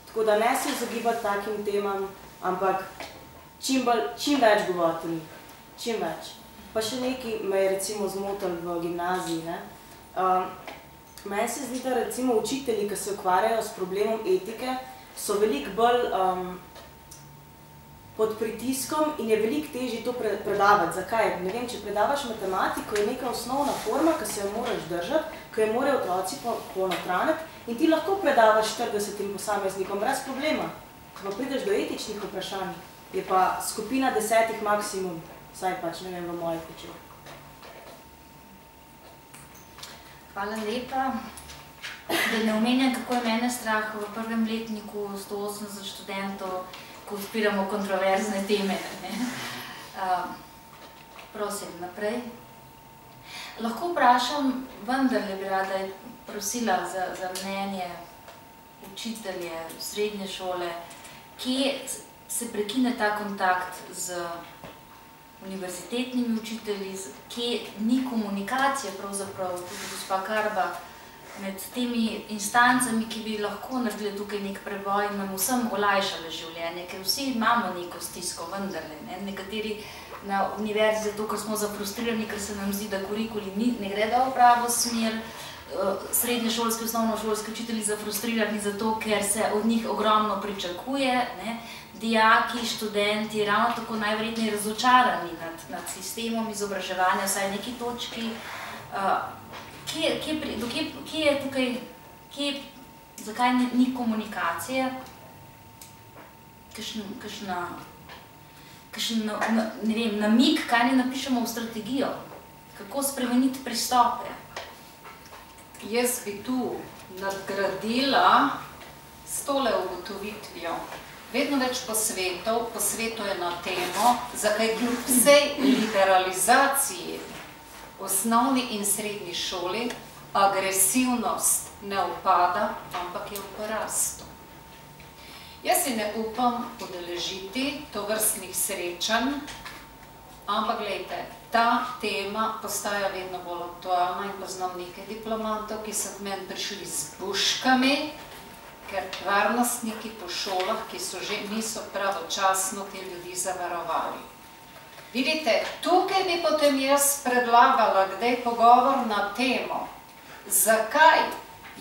Tako da ne se izogibati takim temam, ampak čim več govoriti o njih. Čim več. Pa še nekaj me je recimo zmotil v gimnaziji. Meni se zdi, da recimo učitelji, ki se ukvarjajo s problemom etike, so veliko bolj pod pritiskom in je veliko težje to predavati. Zakaj? Ne vem, če predavaš matematiko, je neka osnovna forma, ki se jo moraš držati, ki jo morajo otroci ponotraniti in ti lahko predavaš 40 posameznikom brez problema. Ko prideš do etičnih vprašanj, je pa skupina 10 maksimum, vsaj pač, ne vem, v mojih očeh. Hvala lepa. Da ne omenjam, kako je mene strah v prvem letniku 180 študentov, ko odpiramo kontroverzne teme. Prosim, naprej. Lahko vprašam, vendarle bi rada prosila za mnenje učitelje srednje šole, kje se prekine ta kontakt z univerzitetnimi učitelji, kje ni komunikacije, pravzaprav tudi gospa Karba, med temi instancami, ki bi lahko naredili tukaj nek preboj in nam vsem olajšale življenje, ker vsi imamo neko stisko, vendarle. Nekateri na univerzi zato, ker smo zafrustrirani, ker se nam zdi, da kurikuli ne gredo v pravo smer, srednješolski, osnovnošolski učitelji zafrustrirani zato, ker se od njih ogromno pričakuje, dijaki, študenti, ravno tako najverjetneje razočarani nad sistemom izobraževanja, vsaj v neki točki. Kje je tukaj, zakaj ni komunikacije, kakšen namig, kaj ne napišemo v strategijo, kako spremeniti pristope? Jaz bi tu nadgradila s tole ugotovitvijo. Vedno več posvetov je na temo, zakaj kljub vsej liberalizaciji osnovni in srednji šoli agresivnost ne upada, ampak je v porastu. Jaz si ne upam udeležiti tovrstnih srečanj, ampak glejte, ta tema postaja vedno bolj aktualna in poznam nekaj diplomantov, ki so k meni prišli s puškami, ker varnostniki po šolah, ki so že niso pravočasno te ljudi zavarovali. Vidite, tukaj bi potem jaz predlagala kdaj pogovor na temo, zakaj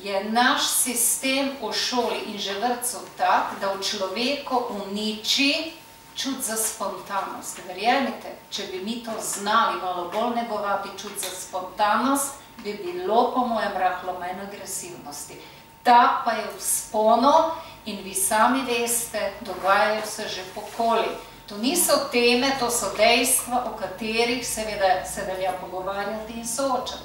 je naš sistem v šoli in že vrtcu tak, da v človeku uniči čut za spontanost. Verjemite, če bi mi to znali malo bolj negovati čut za spontanost, bi bilo po mojem rahlo manj agresivnosti. Ta pa je v sponu in vi sami veste, dogajajo se že pokoli. To niso teme, to so dejstva, o katerih seveda se velja pogovarjati in soočati.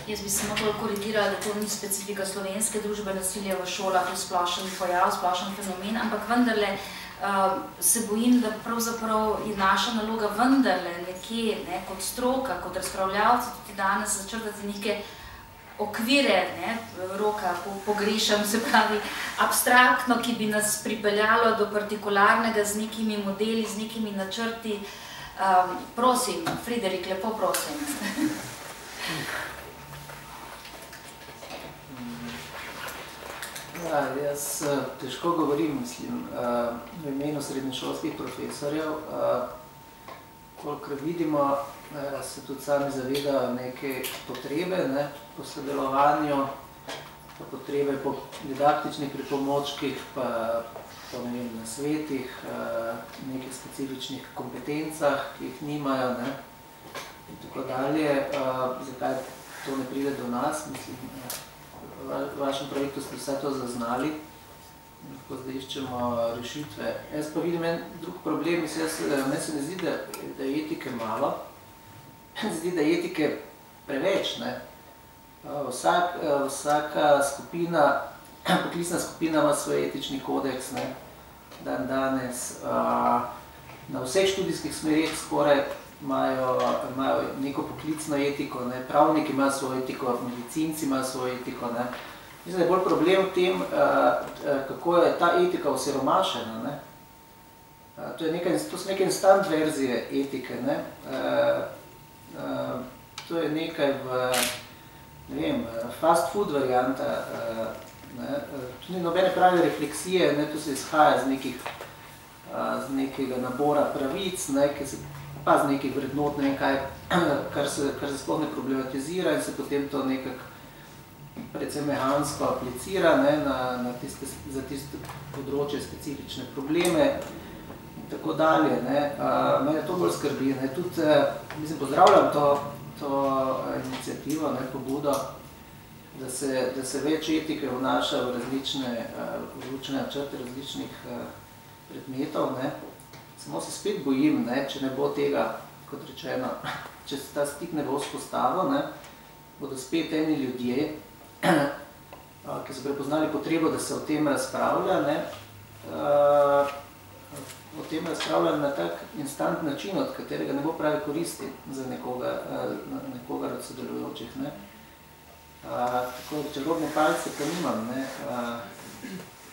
Jaz bi se mogla korigirati, da to ni specifika slovenske družbe, nasilja v šolah je splošen pojav, splošen fenomen, ampak vendarle se bojim, da pravzaprav je naša naloga vendarle nekje, kot stroka, kot razpravljavci, tudi danes začrtati neke okvire, roka pogrešam, se pravi abstraktno, ki bi nas pripeljalo do partikularnega z nekimi modeli, z nekimi načrti. Prosim, Friderik, lepo prosim. Jaz težko govorim, mislim, v imenu srednješolskih profesorjev, kolikor vidimo, se tudi sami zavedajo neke potrebe po sodelovanju, pa potrebe po didaktičnih pripomočkih, pa po nasvetih, nekih specifičnih kompetencah, ki jih nimajo in tako dalje. Zakaj to ne pride do nas? Mislim, v vašem projektu ste vse to zaznali, lahko zdaj iščemo rešitve. Jaz pa vidim en drug problem, meni se ne zdi, da je etike malo, meni se zdi, da je etike preveč. Vsaka skupina, poklicna skupina ima svoj etični kodeks, dan danes. Na vseh študijskih smerih skoraj imajo neko poklicno etiko, pravniki imajo svojo etiko, medicinci imajo svojo etiko. Mislim, da je bolj problem v tem, kako je ta etika osiromašena. To so neke instant verzije etike. To je nekaj fast food varianta. Tu ni nobene prave refleksije, to se izhaja z nekega nabora pravic, pa z nekih vrednot, kar se sploh ne problematizira in se potem to nekako predvsem mehansko aplicira za tiste področje specifične probleme in tako dalje. Mene to bolj skrbi. Tudi, mislim, pozdravljam to inicijativo, pobudo, da se več etike vnaša v različne načrte različnih predmetov. Samo se spet bojim, če ne bo tega, kot rečeno, če se ta stik ne bo vzpostavil, bodo spet eni ljudje, ki so prepoznali potrebo, da se o tem razpravlja, o tem razpravlja na tak instant način, od katerega ne bo pravi koristi za nekoga od sodelujočih. Tako čarobne palce pa nimam,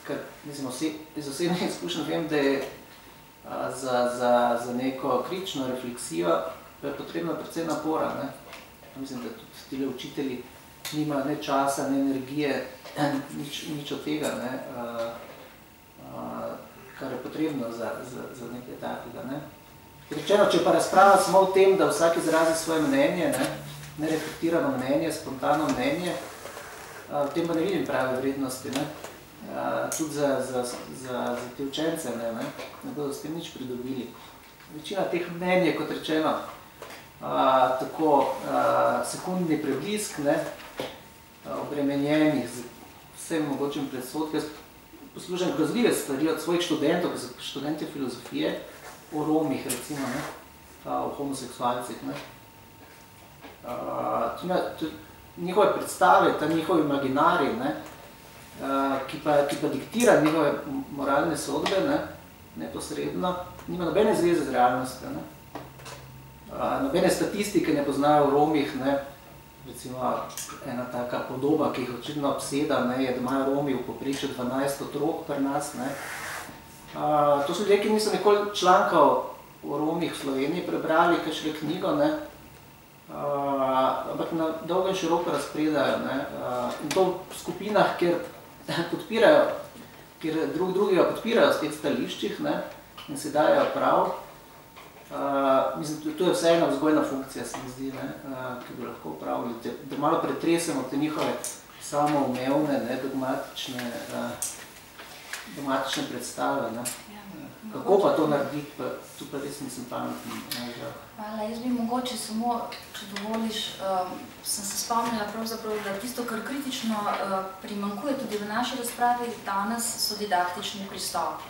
ker iz osebnih izkušenj vem, da je za neko kritično refleksijo je potrebno predvsem napora. Mislim, da tudi tile učitelji nima ne časa, ne energije, nič od tega, kar je potrebno za nekaj takega. Rečeno, če pa razprava samo v tem, da vsak izrazi svoje mnenje, nereflektirano mnenje, spontano mnenje, v tem pa ne vidim prave vrednosti, tudi za te učence, ne bodo s tem nič pridobili. Večina teh mnenj je, kot rečeno, tako sekundni preblisk, obremenjenih z vsem mogočim predsodkom. Poslušam grozljive stvari od svojih študentov, ki so študenti filozofije, o Romih, recimo, o homoseksualcih. Njihove predstave, ta njihovi imaginari, ki pa diktira njihove moralne sodbe, neposredno, nima nobene zveze z realnostjo. Nobene statistike ne poznajo v Romih, recimo ena taka podoba, ki jih očitno obseda, je, da imajo Romi v povprečju 12 otrok pri nas. To so ljudje, ki niso nikoli članka o Romih v Sloveniji prebrali, kakšne knjigo, ampak na dolgo in široko razpredajo. In to v skupinah, kjer podpirajo, kjer drugega podpirajo v teh stališčih in se dajo prav. Mislim, to je vseeno vzgojna funkcija, se mi zdi, ki bi lahko upravili, da malo pretresemo te njihove samoumevne, dogmatične predstave. Kako pa to narediti, tu pa res nisem pametni. Hvala, jaz bi mogoče samo, če dovoliš, sem se spomnila pravzaprav, da tisto, kar kritično primanjkuje tudi v naši razpravi danes, so didaktični pristopi.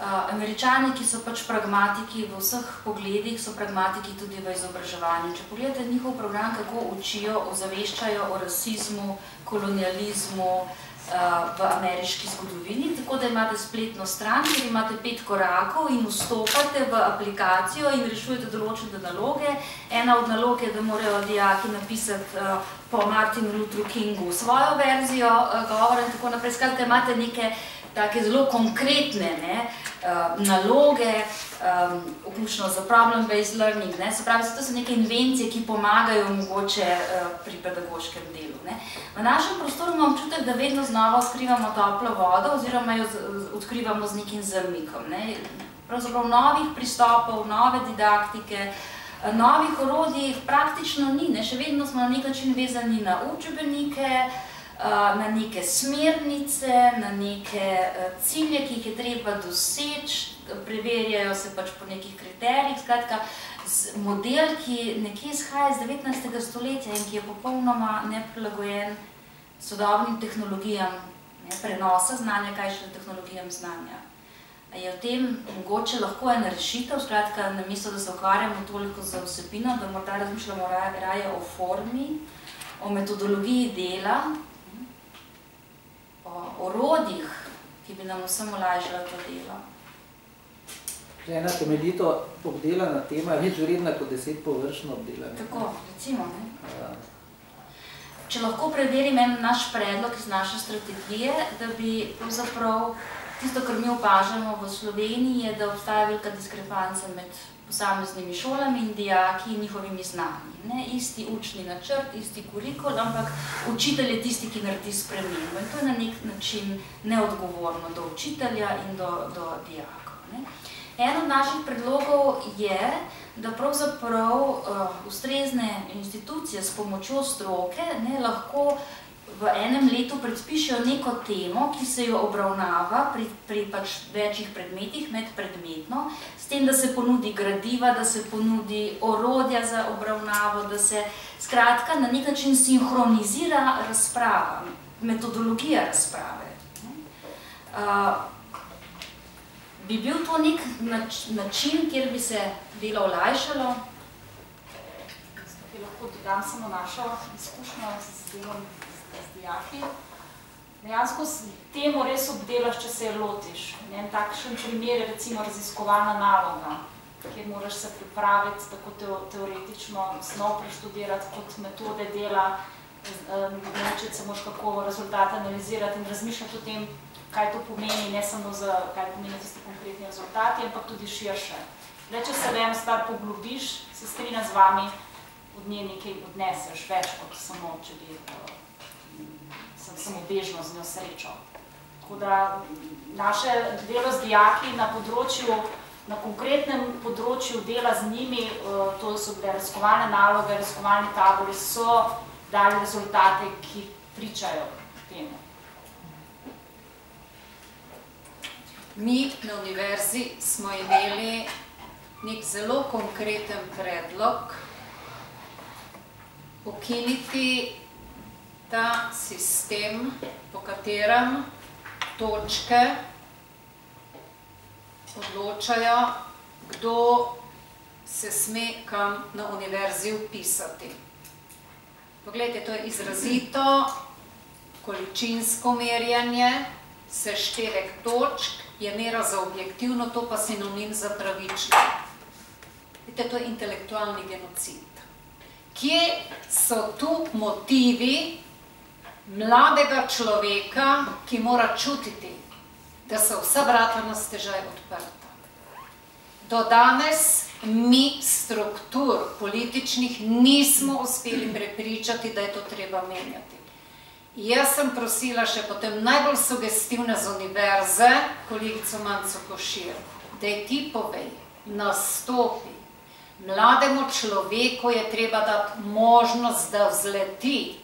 Američani, ki so pač pragmatiki v vseh pogledih, so pragmatiki tudi v izobraževanju. Če pogledate njihov program, kako učijo, ozaveščajo o rasizmu, kolonializmu v ameriški zgodovini, tako da imate spletno stran, kjer imate 5 korakov in vstopate v aplikacijo in rešujete določene naloge. Ena od nalog je, da morajo dijaki napisati po Martinu Luther Kingu svojo verzijo govora in tako naprej. Skratka, imate neke take zelo konkretne naloge, vključno za problem-based learning. Se pravi, to so neke invencije, ki pomagajo mogoče pri pedagoškem delu. V našem prostoru imam občutek, da vedno znova odkrivamo toplo vodo oziroma jo odkrivamo z nekim zamikom. Pravzaprav novih pristopov, nove didaktike, novih orodij praktično ni. Še vedno smo na nek način vezani na učbenike, na neke smernice, na neke cilje, ki jih je treba doseči, preverjajo se pač po nekih kriterijih. Skratka, model, ki nekje izhaja iz 19. stoletja in ki je popolnoma neprilagojen sodobnim tehnologijam prenosa znanja, kaj še tehnologijam znanja. Je v tem mogoče lahko ena rešitev, skratka, namesto da se ukvarjamo toliko z vsebino, da morda razmišljamo raje o formi, o metodologiji dela, o orodjih, ki bi nam vsem olajšala to delo. Ena temeljito obdelana tema je več vredna kot 10 površno obdelana. Tako, recimo. Če lahko preverim en naš predlog iz naše strategije, da bi pravzaprav tisto, kar mi opažamo v Sloveniji, je, da obstaja velika diskrepanca med posameznimi šolami in dijaki in njihovimi znanji. Isti učni načrt, isti kurikul, ampak učitelj je tisti, ki naredi spremembo. In to je na nek način neodgovorno do učitelja in do dijakov. En od naših predlogov je, da pravzaprav ustrezne institucije s pomočjo stroke lahko v enem letu predpišejo neko temo, ki se jo obravnava pri pač večjih predmetih, medpredmetno, s tem, da se ponudi gradiva, da se ponudi orodja za obravnavo, da se skratka na nek način sinhronizira razprava, metodologija razprave. Bi bil to nek način, kjer bi se delo olajšalo? Lahko dodam samo našo izkušnjo z delom z dijaki. Dejansko temu res obdelaš, če se je lotiš. En takšen primer je recimo raziskovalna naloga, kjer moraš se pripraviti tako teoretično snov preštudirati kot metode dela, naučiti se moraš kako rezultate analizirati in razmišljati o tem, kaj to pomeni, ne samo za kaj pomeni tisti konkretni rezultati, ampak tudi širše. Le, če se v eno stvar poglobiš, se strinjam z vami, od nje nekaj odneseš, več kot samo, če bi samo bežno z njo srečo. Tako da naše delo z dijaki na področju, na konkretnem področju dela z njimi, to so bile raziskovalne naloge, raziskovalni tabori, so dali rezultate, ki pričajo temu. Mi na univerzi smo imeli nek zelo konkreten predlog ukiniti ta sistem, po katerem točke odločajo, kdo se sme kam na univerzi vpisati. Poglejte, to je izrazito količinsko merjanje, seštevek točk je mera za objektivno, to pa sinonim za pravično. Vidite, to je intelektualni genocid. Kje so tu motivi mladega človeka, ki mora čutiti, da so vsa vrata na stežaj odprta? Do danes mi struktur političnih nismo uspeli prepričati, da je to treba menjati. Jaz sem prosila še potem najbolj sugestivne z univerze, kolegico Manco Košir, da ti povej, nastopi. Mlademu človeku je treba dati možnost, da vzleti.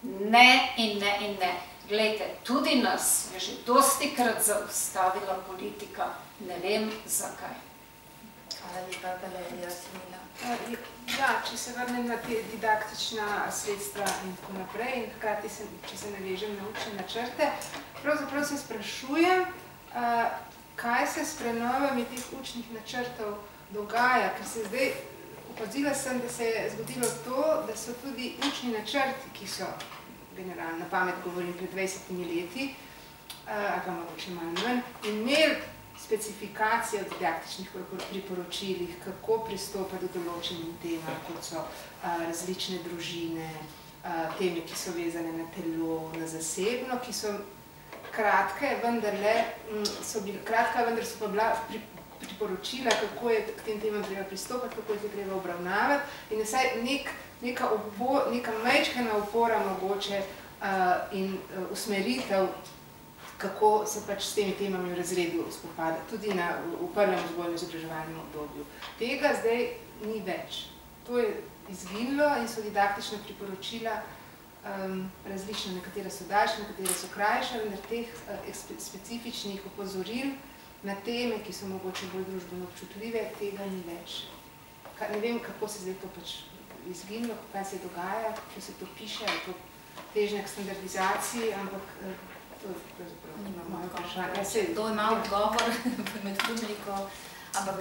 Ne in ne in ne. Glejte, tudi nas je že dostikrat zaustavila politika, ne vem zakaj. Hvala lepa, Valerija Simila. Ja, če se vrnem na te didaktična sredstva in tako naprej in hkrati, če se navežem na učne načrte, pravzaprav se sprašujem, kaj se s prenovami teh učnih načrtov dogaja, ker se zdaj opazila sem, da se je zgodilo to, da so tudi učni načrti, ki so, generalno na pamet govorim, pred 20 leti, ali pa mogoče malo manj, imeli specifikacije v didaktičnih priporočilih, kako pristopati do določenim temam, kot so različne družine, teme, ki so vezane na telo, na zasebno, ki so kratke, vendar so pa bila priporočila, kako je k tem temam treba pristopati, kako je treba obravnavati in vsaj neka majčkana opora mogoče in usmeritev, kako se pač s temi temami v razredu spopada, tudi v prvem vzgojno-izobraževalnem obdobju. Tega zdaj ni več. To je izginilo in so didaktična priporočila različna, nekatera so daljša, nekatera so krajša, vendar teh specifičnih opozoril na teme, ki so mogoče bolj družbeno občutljive, tega ni več. Ne vem, kako se zdaj to pač izginilo, kaj se dogaja, če se to piše, ali to težnja k standardizaciji, ampak to je pravzaprav moje vprašanje. Kdo ima odgovor med publiko, ampak...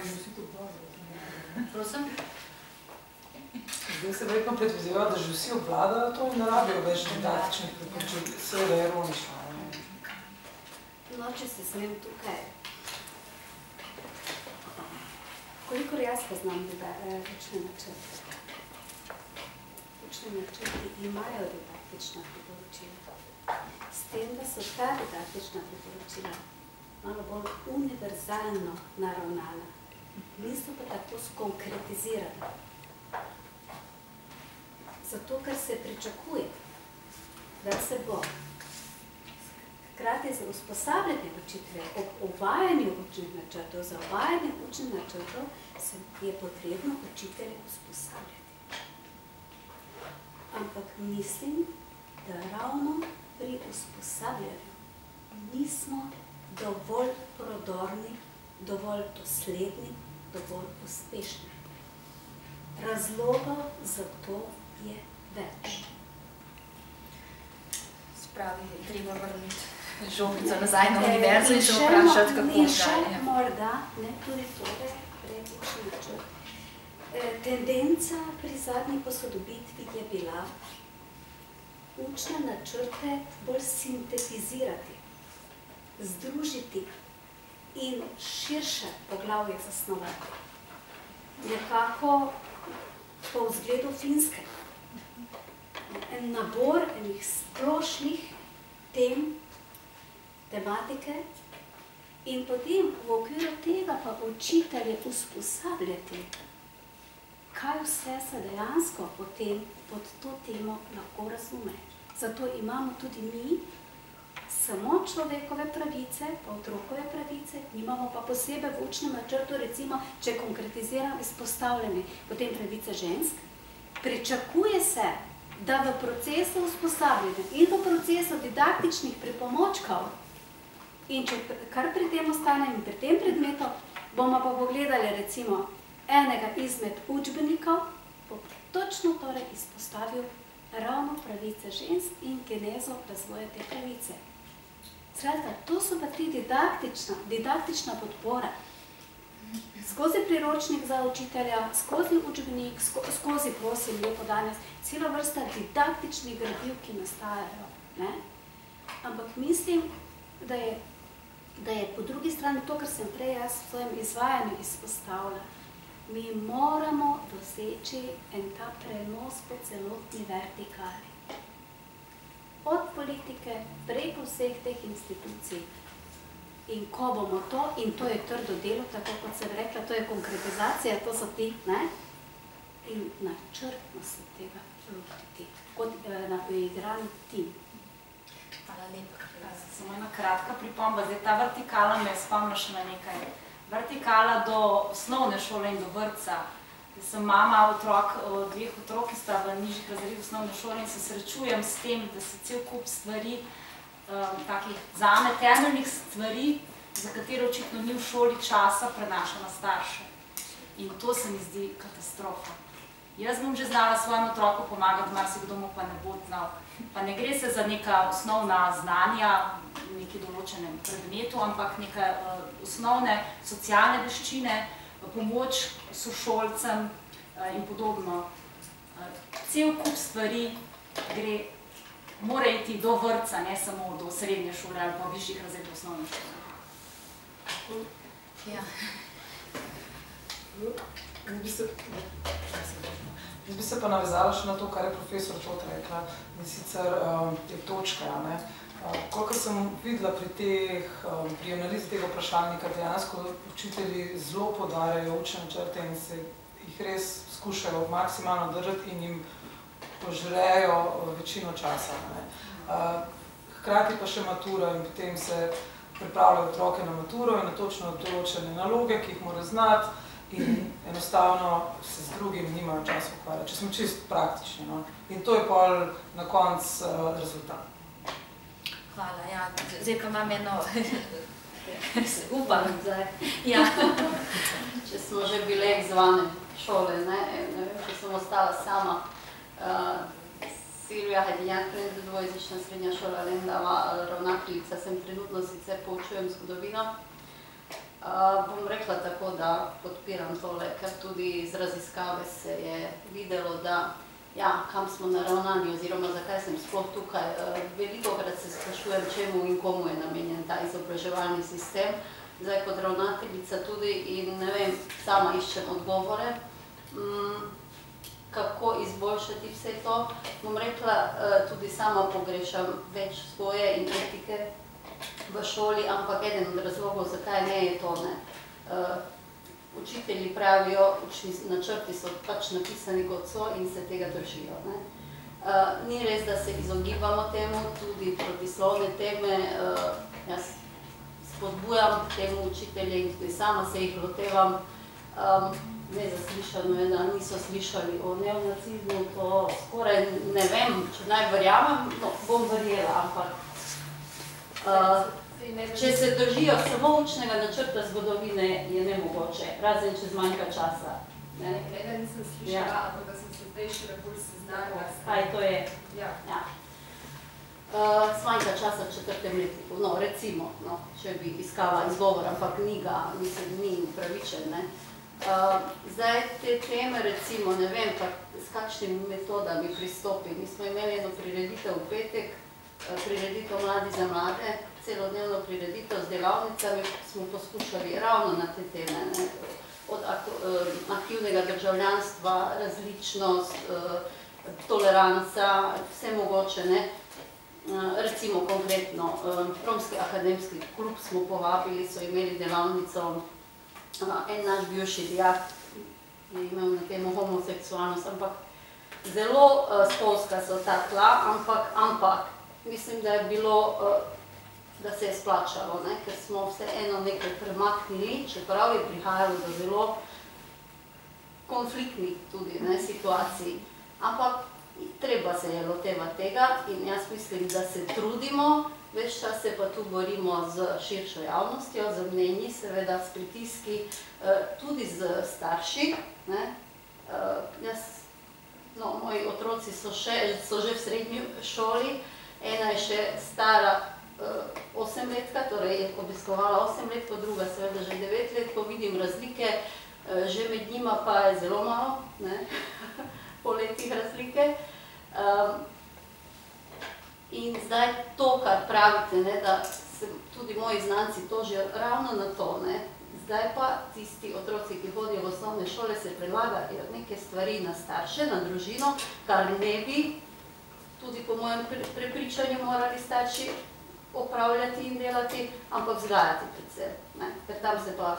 Prosim? Zdaj se verjetno predvidevajo, da že vsi obvladajo to in ne rabijo več didaktičnih priporočil. Seveda je ironično. No, če se smem tukaj. Kolikor jaz poznam učne načrte? Učne načrti imajo didaktična priporočila. S tem, da so ta didaktična priporočila malo bolj univerzalno naravnana. Niso pa tako skonkretizirana. Zato, ker se pričakuje, da se bo hkrati za usposabljanje učitelja ob uvajanju učnih načrtov, za uvajanje učnih načrtov je potrebno učitelje usposabljati. Ampak mislim, da ravno pri usposabljanju nismo dovolj prodorni, dovolj dosledni, dovolj uspešni. Razlogov za to je več. Spravi, treba vrniti žogico nazaj na univerzo in se vprašati, kako dalje. Še morda, tudi tole predlični načrt. Tendenca pri zadnji posodobitvi je bila učne načrte bolj sintetizirati, združiti in širše poglavje zasnovati. Nekako po vzgledu Finske. En nabor enih splošnih tem, tematike in potem v okviru tega pa učitelje usposabljati, kaj vse se dejansko potem pod to temo lahko razume. Zato imamo tudi mi samo človekove pravice, pa otrokove pravice, imamo pa posebej v učnem načrtu, recimo, če konkretiziram izpostavljene, potem pravice žensk. Pričakuje se, da v procesu usposabljanja in v procesu didaktičnih pripomočkov in če kar pri tem ostane in pri tem predmetu, bomo pa pogledali recimo enega izmed učbenikov, bo točno torej izpostavil ravno pravice žensk in genezo razvoja te pravice. Skratka, to so pa ti didaktična podpora. Skozi priročnik za učitelja, skozi učbenik, skozi, prosim, lepo danes, celo vrsta didaktičnih gradiv, ki nastajajo. Ampak mislim, da je po drugi strani to, kar sem prej jaz v svojem izvajanju izpostavila, mi moramo doseči en ta prenos po celotni vertikali. Od politike preko vseh teh institucij. In ko bomo to, in to je trdo delo, tako kot sem rekla, to je konkretizacija, to so ti, in načrtno se tega lotiti, kot na uigran tim. Hvala lepa. Samo ena kratka pripomba, zdaj ta vertikala me spomni še na nekaj. Vertikala do osnovne šole in do vrtca. Sem mama dveh otrok, ki sta v nižjih razredih osnovne šole in se srečujem s tem, da se cel kup stvari, takih zame temeljnih stvari, za katero očitno ni v šoli časa, prenaša na starše. In to se mi zdi katastrofa. Jaz bom že znala svojemu otroku pomagati, marsikdo mu pa ne bo znal. Pa ne gre se za neka osnovna znanja v neki določenem predmetu, ampak neke osnovne socialne veščine, pomoč sošolcem in podobno. Cel kup stvari mora iti do vrtca, ne samo do srednje šole ali pa višjih razredov osnovne šole. Ja. Jaz bi se pa navezala še na to, kar je profesor Tot rekla, in sicer te točke. Kolikor sem videla pri analizi tega vprašalnika, dejansko učitelji zelo poudarjajo učne načrte in se jih res skušajo maksimalno držati in jim požrejo večino časa. Hkrati pa še matura in potem se pripravljajo otroke na maturo in na točno določene naloge, ki jih mora znati in enostavno se z drugim nimajo časa ukvarjati, če smo čisto praktični. In to je pol na konc rezultat. Hvala, ja. Zdaj pa imam eno... Upam. Ja. Če smo že bile izzvane šole, ne vem, če sem ostala sama. Silvija Hajdinjak, dvojezična srednja šola Lendava, ravnateljica, sem trenutno sicer poučujem zgodovino. Bom rekla tako, da podpiram tole, ker tudi iz raziskave se je videlo, da kam smo naravnani oziroma zakaj sem sploh tukaj. Velikokrat se sprašujem, čemu in komu je namenjen ta izobraževalni sistem. Zdaj kot ravnateljica tudi in ne vem, sama iščem odgovore, kako izboljšati vse to. Bom rekla, tudi sama pogrešam več vzgoje in etike v šoli, ampak eden od razlogov, zakaj ne je to, Učitelji pravijo, učni načrti so pač napisani kot so in se tega držijo. Ni res, da se izogibamo temu, tudi protislovne teme. Jaz spodbujam temu učitelje in tudi sama se jih lotevam. nezaslišano je, da niso slišali o neonacizmu, to skoraj ne vem, če naj verjamem, no, bom verjela, ampak če se držijo samo učnega načrta zgodovine, je nemogoče, razen če zmanjka časa. Ne, nisem slišala, ampak da sem se zdaj še bolj seznanila. Kaj to je? Ja. Zmanjka časa v 4. letniku, no, recimo, no, če bi iskala izgovor, ampak ni upravičen, ne. Zdaj te teme, recimo, ne vem, s kakšnimi metodami pristopi. Mi smo imeli eno prireditev v petek, prireditev Mladi za mlade, celodnevno prireditev z delavnicami, smo poskušali ravno na te teme, ne, od aktivnega državljanstva, različnost, toleranca, vse mogoče, ne. Recimo konkretno, Romski akademski klub smo povabili, so imeli delavnico, en naš bivši dijak je imel na temo homoseksualnost, ampak zelo spolska so ta tla, ampak mislim, da je bilo, da se je splačalo, ne? Ker smo vseeno nekaj premaknili, čeprav je prihajalo do zelo konfliktnih tudi situacij. Ampak treba se je lotevati tega in jaz mislim, da se trudimo, več čas se pa tu borimo z širšo javnostjo, z mnenji, seveda s pritiski, tudi z starši. Moji otroci so že v srednji šoli, ena je še stara 8-letka, torej je obiskovala 8-letko, druga seveda že 9 let, ko vidim razlike, že med njima pa je zelo malo, po letih razlike. In zdaj to, kar pravite, da se tudi moji znanci tožijo ravno na to, zdaj pa tisti otroci, ki hodijo v osnovne šole, se prelagajo neke stvari na starše, na družino, kar ne bi tudi po mojem prepričanju morali starši opravljati in delati, ampak vzgajati predvsem. Ker tam se pa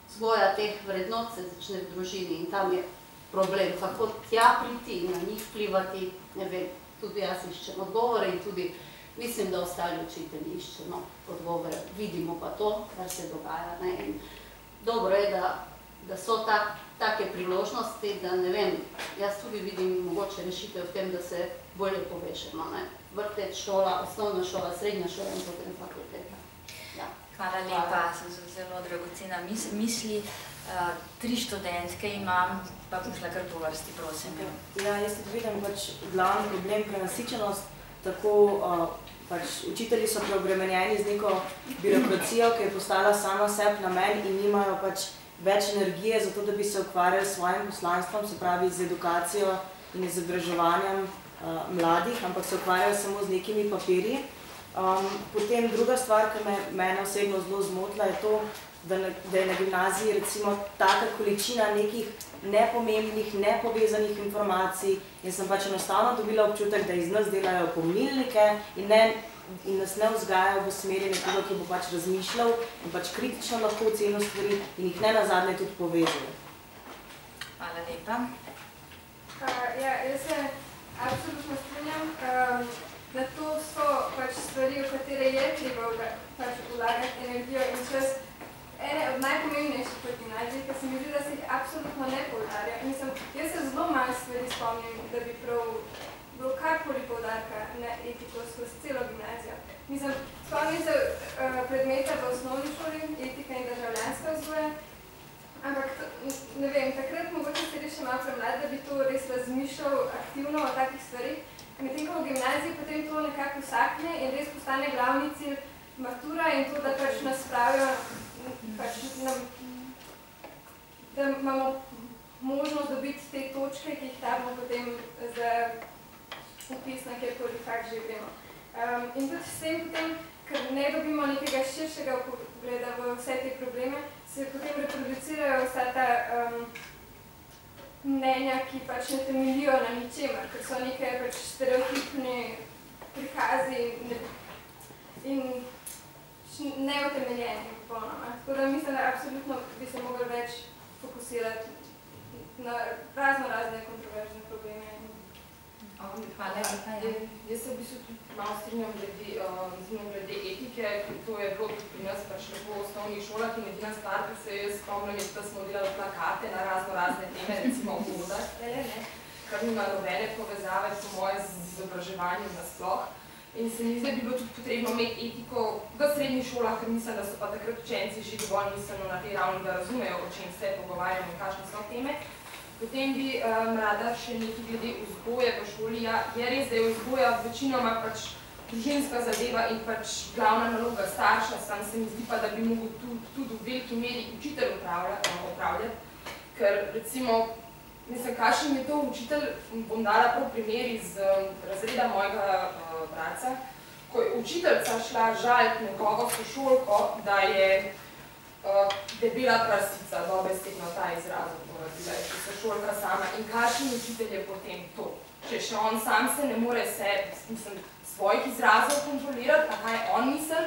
vzgoja teh vrednot se začne v družini in tam je problem, kako tja priti in na njih vplivati, ne vem, tudi jaz iščem odgovore in tudi mislim, da ostali učitelji iščemo odgovore. Vidimo pa to, kar se dogaja. In dobro je, da so take priložnosti, da ne vem, jaz tudi vidim mogoče rešitev v tem, da se bolje povešemo. Vrtec, šola, osnovna šola, srednja šola in potem fakulteta. Hvala lepa, so zelo dragocena misli. 3 študentke imam, pa bom šla kar po vrsti, prosim. Ja, jaz tudi vidim glavni problem prenasičenost, tako učitelji so preobremenjeni z neko birokracijo, ki je postala sama sebi namen in nimajo več energije za to, da bi se ukvarjali s svojim poslanstvom, se pravi z edukacijo in izobraževanjem mladih, ampak se ukvarjajo samo z nekimi papirji. Potem druga stvar, ki mene osebno zelo zmotila, je to, da je na gimnaziji recimo taka količina nekih nepomembnih, nepovezanih informacij in sem enostavno dobila občutek, da iz nas delajo pomnilnike in nas ne vzgajajo v smeri nekoga, ki bo razmišljal in kritično lahko ocenil stvari in jih ne nazadnje tudi povezal. Hvala lepa. Jaz se absolutno strinjam, da to so stvari, v katere je treba vlagati energijo in čas. Ene od najpomembnejših v gimnaziji, ker se mi zdi, da se jih absolutno ne poudarja. Jaz se zelo malo stvari spomnim, da bi prav bilo karkoli poudarka na etiko skozi celo gimnazijo. Spomnim se predmeta v osnovni šoli, etika in državljanska vzgoja, ampak ne vem, takrat mogoče se še malo premlad, da bi to res razmišljal aktivno o takih stvarih. Medtem ko v gimnaziji potem to nekako usakne in res postane glavni cilj matura in to, da nas spravijo, da imamo možnost dobiti te točke, ki jih damo potem za upis na kjerkoli fakt že gremo. In tudi s tem potem, ker ne dobimo nekega širšega pogleda v vse te probleme, se potem reproducirajo vsa ta mnenja, ki ne temeljijo na ničemer, ker so neke stereotipni prikazi in neutemeljeni popolnoma. Tako da mislim, da absolutno bi se mogli več fokusirati na razne kontroverzne probleme. Hvala lepa. Jaz se v bistvu tudi malo strinjam glede etike, ker to je bilo tudi pri nas pač lepo v osnovnih šolah in edina stvar, ki se jaz spomnim, je, da smo delali plakate na razne teme, recimo v vodah, kar nima nobene povezave po moje z izobraževanjem nasploh. In se mi zdi, da bi bilo tudi potrebno imeti etiko v srednjih šolah, ker mislim, da so pa takrat učenci že dovolj miselno na tej ravni, da razumejo, o čem se pogovarjamo in kakšne so teme. Potem bi rada še nekaj glede vzgoje v šoli. Je res, da je vzgoja večinoma pač družinska zadeva in pač glavna naloga starša, sam se mi zdi pa, da bi mogel tudi v veliki meri učitelj opravljati, ker recimo, mislim, kakšen je to učitelj, bom dala prav primer iz razreda mojega bratca, ko je učiteljca šla žaliti nekoga sošolko, da je debela prasica, dobesedno ta izraz uporabila, če se šolka sama. In kakšen učitelj je potem to? Če še on sam se ne more svojih izrazov kontrolirati, a kaj on misli,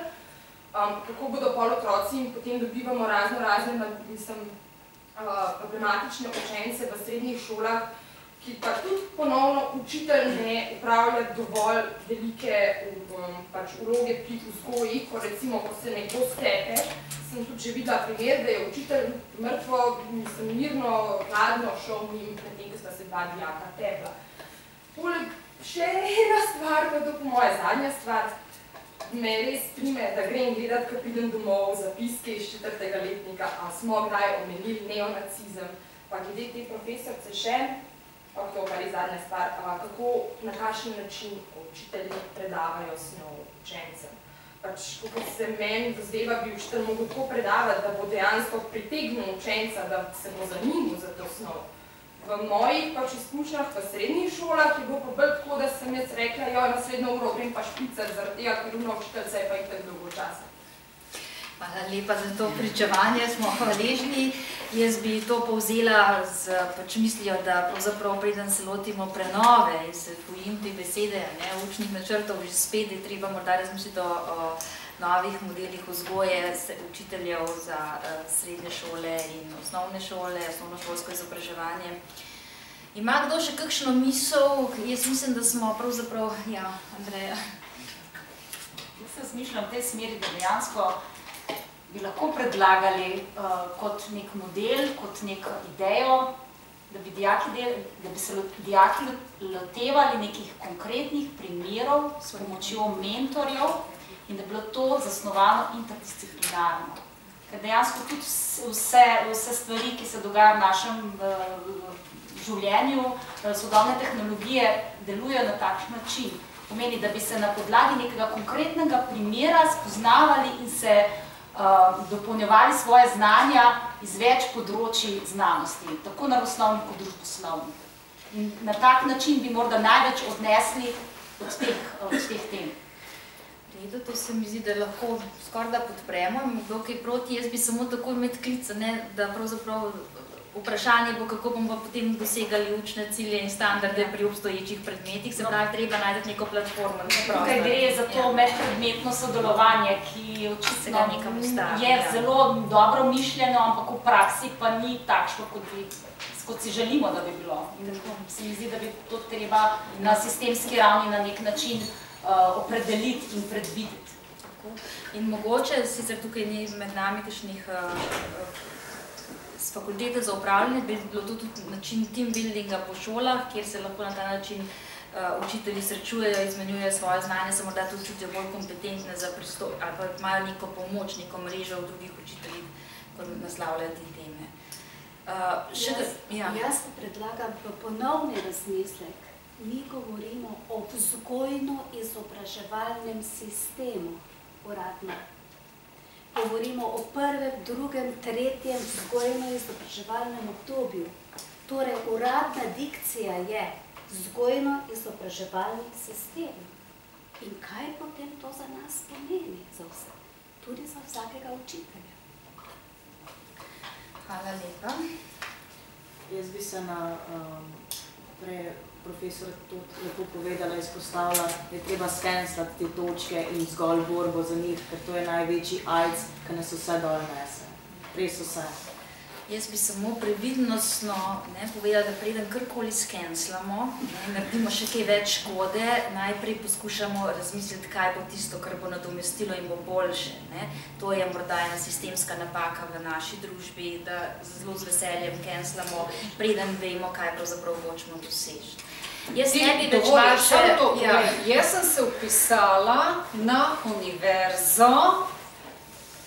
kako bodo pol otroci in potem dobivamo razne problematične učence v srednjih šolah, ki pa tudi ponovno učitelj ne upravlja dovolj velike vloge pri vzgoji, ko recimo, ko se nekdo stepe, sem tudi že videla primer, da je učitelj mrtvo, mirno, hladno šel njim pred tem, ko sta se dva dijaka tepla. Poleg še ena stvar, pa je to po moje zadnja stvar, me res prime, da grem gledati, ko pridem domov, zapiske iz 4. letnika, a smo kdaj omenili neonacizem, pa glede te profesorce še, pa to pa res zadnja stvar, kako, na kakšen način učitelji predavajo snov učencem. Pač, kot se meni dozdeva, bi učitelj mogel tako predavati, da bo dejansko pritegnil učenca, da se bo zanimal za to snov. V mojih pač izkušnjah v srednjih šolah je bilo pa bolj tako, da sem jaz rekla, jo, naslednjo uro grem pa špicar, zaradi tega, ker učiteljca je pa itak dolgo časa. Hvala lepa za to pričevanje, smo hvaležni. Jaz bi to povzela z mislijo, da pravzaprav preden se lotimo prenove in se bojim te besede, učnih načrtov, že spet je treba morda razmisliti o novih modelih vzgoje učiteljev za srednje šole in osnovne šole, osnovnošolsko izobraževanje. Ima kdo še kakšno misel? Jaz mislim, da smo pravzaprav, ja, Andreja. Jaz se razmišljam v tej smeri, da dejansko bi lahko predlagali kot nek model, kot neko idejo, da bi se dijaki lotevali nekih konkretnih primerov s pomočjo mentorjev in da bi bilo to zasnovano interdisciplinarno. Ker dejansko tudi vse stvari, ki se dogajajo v našem življenju, sodobne tehnologije delujejo na takšen način. Pomeni, da bi se na podlagi nekega konkretnega primera spoznavali in se dopolnjevali svoje znanja iz več področij znanosti, tako naravoslovnih kot družboslovnih. In na tak način bi morda največ odnesli od teh tem. Redo, to se mi zdi, da lahko skoraj da podpremo, kdo kaj proti, jaz bi samo tako imeti klica, da pravzaprav vprašanje bo, kako bomo potem dosegali učne cilje in standarde pri obstoječih predmetih, se pravi, treba najti neko platformo. Tukaj gre za to medpredmetno sodelovanje, ki očitno je zelo dobro mišljeno, ampak v praksi pa ni takšno, kot si želimo, da bi bilo. In se mi zdi, da bi to treba na sistemski ravni na nek način opredeliti in predvideti. In mogoče, sicer tukaj ni med nami kakšnih z fakultete za upravljanje, bi bilo to tudi način team buildinga po šolah, kjer se lahko na ta način učitelji srečujejo, izmenjujejo svoje znanje, se morda tudi čutijo bolj kompetentne za pristop, ali pa imajo neko pomoč, neko mrežo v drugih učiteljih, ko naslavljajo te teme. Jaz predlagam ponovni razmislek. Mi govorimo o vzgojno-izobraževalnem sistemu uradno. Govorimo o prvem, drugem, tretjem vzgojno-izobraževalnem obdobju. Torej, uradna dikcija je vzgojno-izobraževalni sistem. In kaj potem to za nas pomeni? Za vse. Tudi za vsakega učitelja. Hvala lepa. Jaz bi se na profesor tudi lepo povedala, izpostavila, da je treba skenslati te točke in zgolj borbo za njih, ker to je največji AIDS, ki nas vse dol nese. Res vse. Jaz bi samo previdnostno povedala, da preden karkoli skenslamo, naredimo še kaj več škode, najprej poskušamo razmisliti, kaj bo tisto, kar bo nadomestilo in bo boljše. To je morda ena sistemska napaka v naši družbi, da zelo z veseljem kenslamo, preden vemo, kaj pravzaprav hočemo doseči. Jaz ne bi več vaše... Jaz sem se vpisala na univerzo,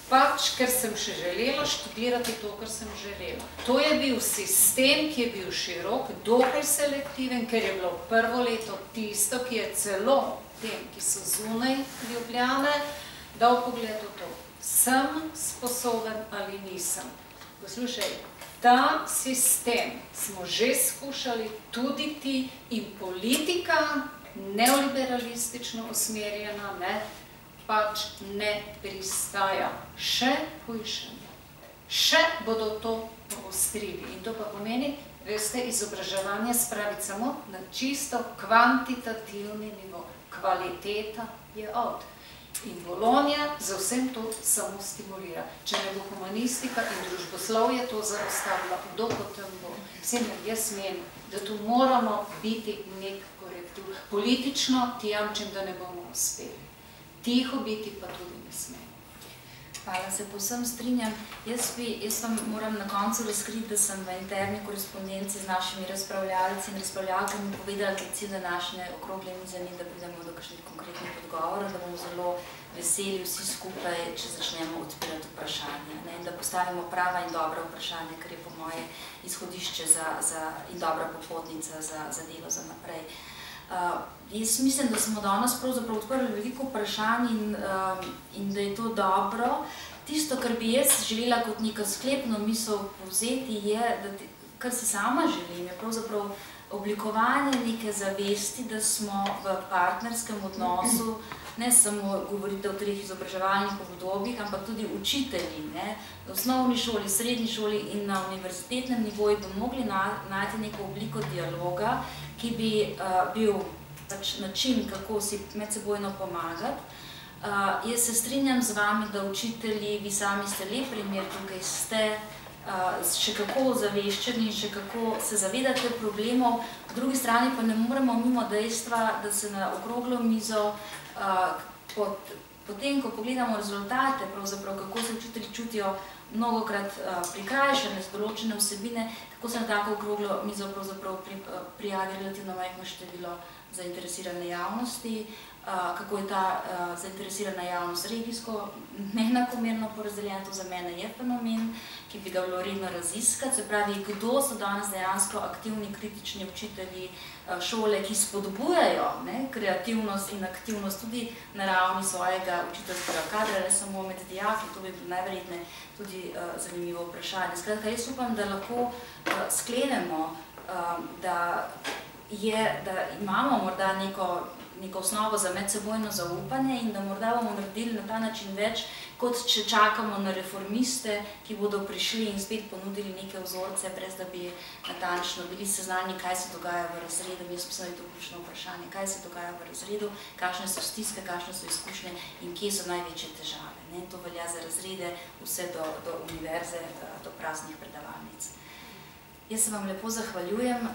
pač, ker sem še želela študirati to, kar sem želela. To je bil sistem, ki je bil širok, dokaj selektiven, ker je bilo prvo leto tisto, ki je celo tem, ki so zunaj Ljubljane, dal pogled v to. Sem sposoben ali nisem. Poslušaj, ta sistem smo že skušali tudi ti in politika, neoliberalistično usmerjena, pač ne pristaja. Še hujšanje. Še bodo to poostrili. In to pa pomeni, veste, izobraževanje spraviti samo na čisto kvantitativni nivo. Kvaliteta je out. In Bologna za vsem to samo stimulira. Če ne bo humanistika in družboslovje to zaostavila, kdo potem bo? Vsem jaz menim, da tu moramo biti nek korektiv. Politično ti jamčim, da ne bomo uspeli. Tiho biti pa tudi ne smemo. Hvala, se povsem strinjam. Jaz vam moram na koncu razkriti, da sem v interni korespondenci z našimi razpravljalci in razpravljalkami povedala, da cilj današnje okrogle mize ni, da pridemo do kakšnih konkretnih odgovorov, da bomo zelo veseli vsi skupaj, če začnemo odpirati vprašanje. In da postavimo prava in dobra vprašanja, kar je po moje izhodišče in dobra popotnica za delo za naprej. Jaz mislim, da smo danes pravzaprav odprli veliko vprašanj in da je to dobro. Tisto, kar bi jaz želela kot neko sklepno misel povzeti, je, da kar si sama želim, je pravzaprav oblikovanje neke zavesti, da smo v partnerskem odnosu, ne samo govorite o 3 izobraževalnih obdobjih, ampak tudi učitelji, v osnovni šoli, srednji šoli in na univerzitetnem nivoju bi mogli najti neko obliko dialoga, ki bi bil način, kako si medsebojno pomagati. Jaz se strinjam z vami, da učitelji, vi sami ste lep primer, tukaj ste še kako ozaveščeni in še kako se zavedate problemov, po drugi strani pa ne moremo mimo dejstva, da se na okroglo mizo, potem, ko pogledamo rezultate, pravzaprav kako se učitelji čutijo mnogokrat prikrajšane z določene vsebine, kako se na tako okroglo mizo pravzaprav prijavi relativno majhno število zainteresirane javnosti, kako je ta zainteresirana javnost regijsko neenakomerno porazdeljena, to za mene je fenomen, ki bi ga bilo redno raziskati, se pravi, kdo so danes dejansko aktivni, kritični učitelji šole, ki spodbujajo kreativnost in aktivnost tudi na ravni svojega učiteljskega kadra, ne samo med dijaki, to bi bilo najverjetneje tudi zanimivo vprašanje. Skratka, jaz upam, da lahko sklenemo, da imamo morda neko osnovo za medsebojno zaupanje in da morda bomo naredili na ta način več, kot če čakamo na reformiste, ki bodo prišli in spet ponudili neke vzorce, brez da bi natančno bili seznanjeni, kaj se dogaja v razredu. Jaz mislim, da je to ključno vprašanje, kaj se dogaja v razredu, kakšne so stiske, kakšne so izkušnje in kje so največje težave. To velja za razrede vse do univerze, do praznih predavalnic. Jaz se vam lepo zahvaljujem,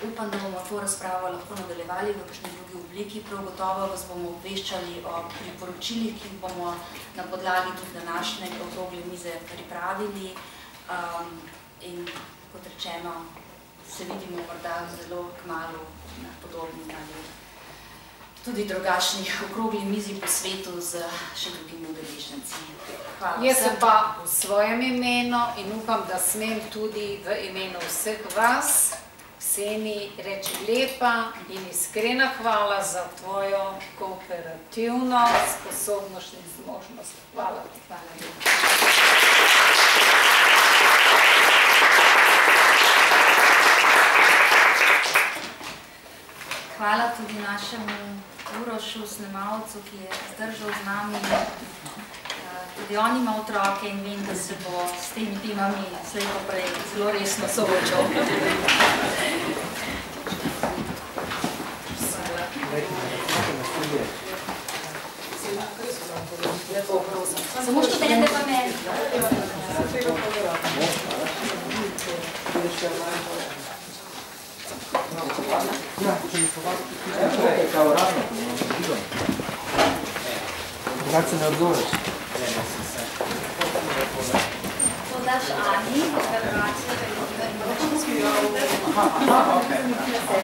upam, da bomo to razpravo lahko nadaljevali v kakšni drugi obliki, prav gotovo vas bomo obveščali o priporočilih, ki jih bomo na podlagi tudi današnje okrogle mize pripravili in kot rečeno, se vidimo morda zelo kmalu na podobni ali tudi drugačnih okrogli mizi po svetu z še drugimi udeleženci. Jaz se pa v svojem imenu in upam, da smem tudi v imenu vseh vas, Kseni, reči lepa in iskrena hvala za tvojo kooperativno sposobnost in zmožnost. Hvala ti. Hvala tudi našemu Urošu, snemalcu, ki je zdržal z nami. Tudi on ima otroke in vem, da se bo s temi temami slej poprej zelo resno soočal. Samo študente pa meni. Ja, če mi povaditi, je kao uradno. Drugače se ne odzoveš. To daš Ani, ker vračaš, Aha, okej.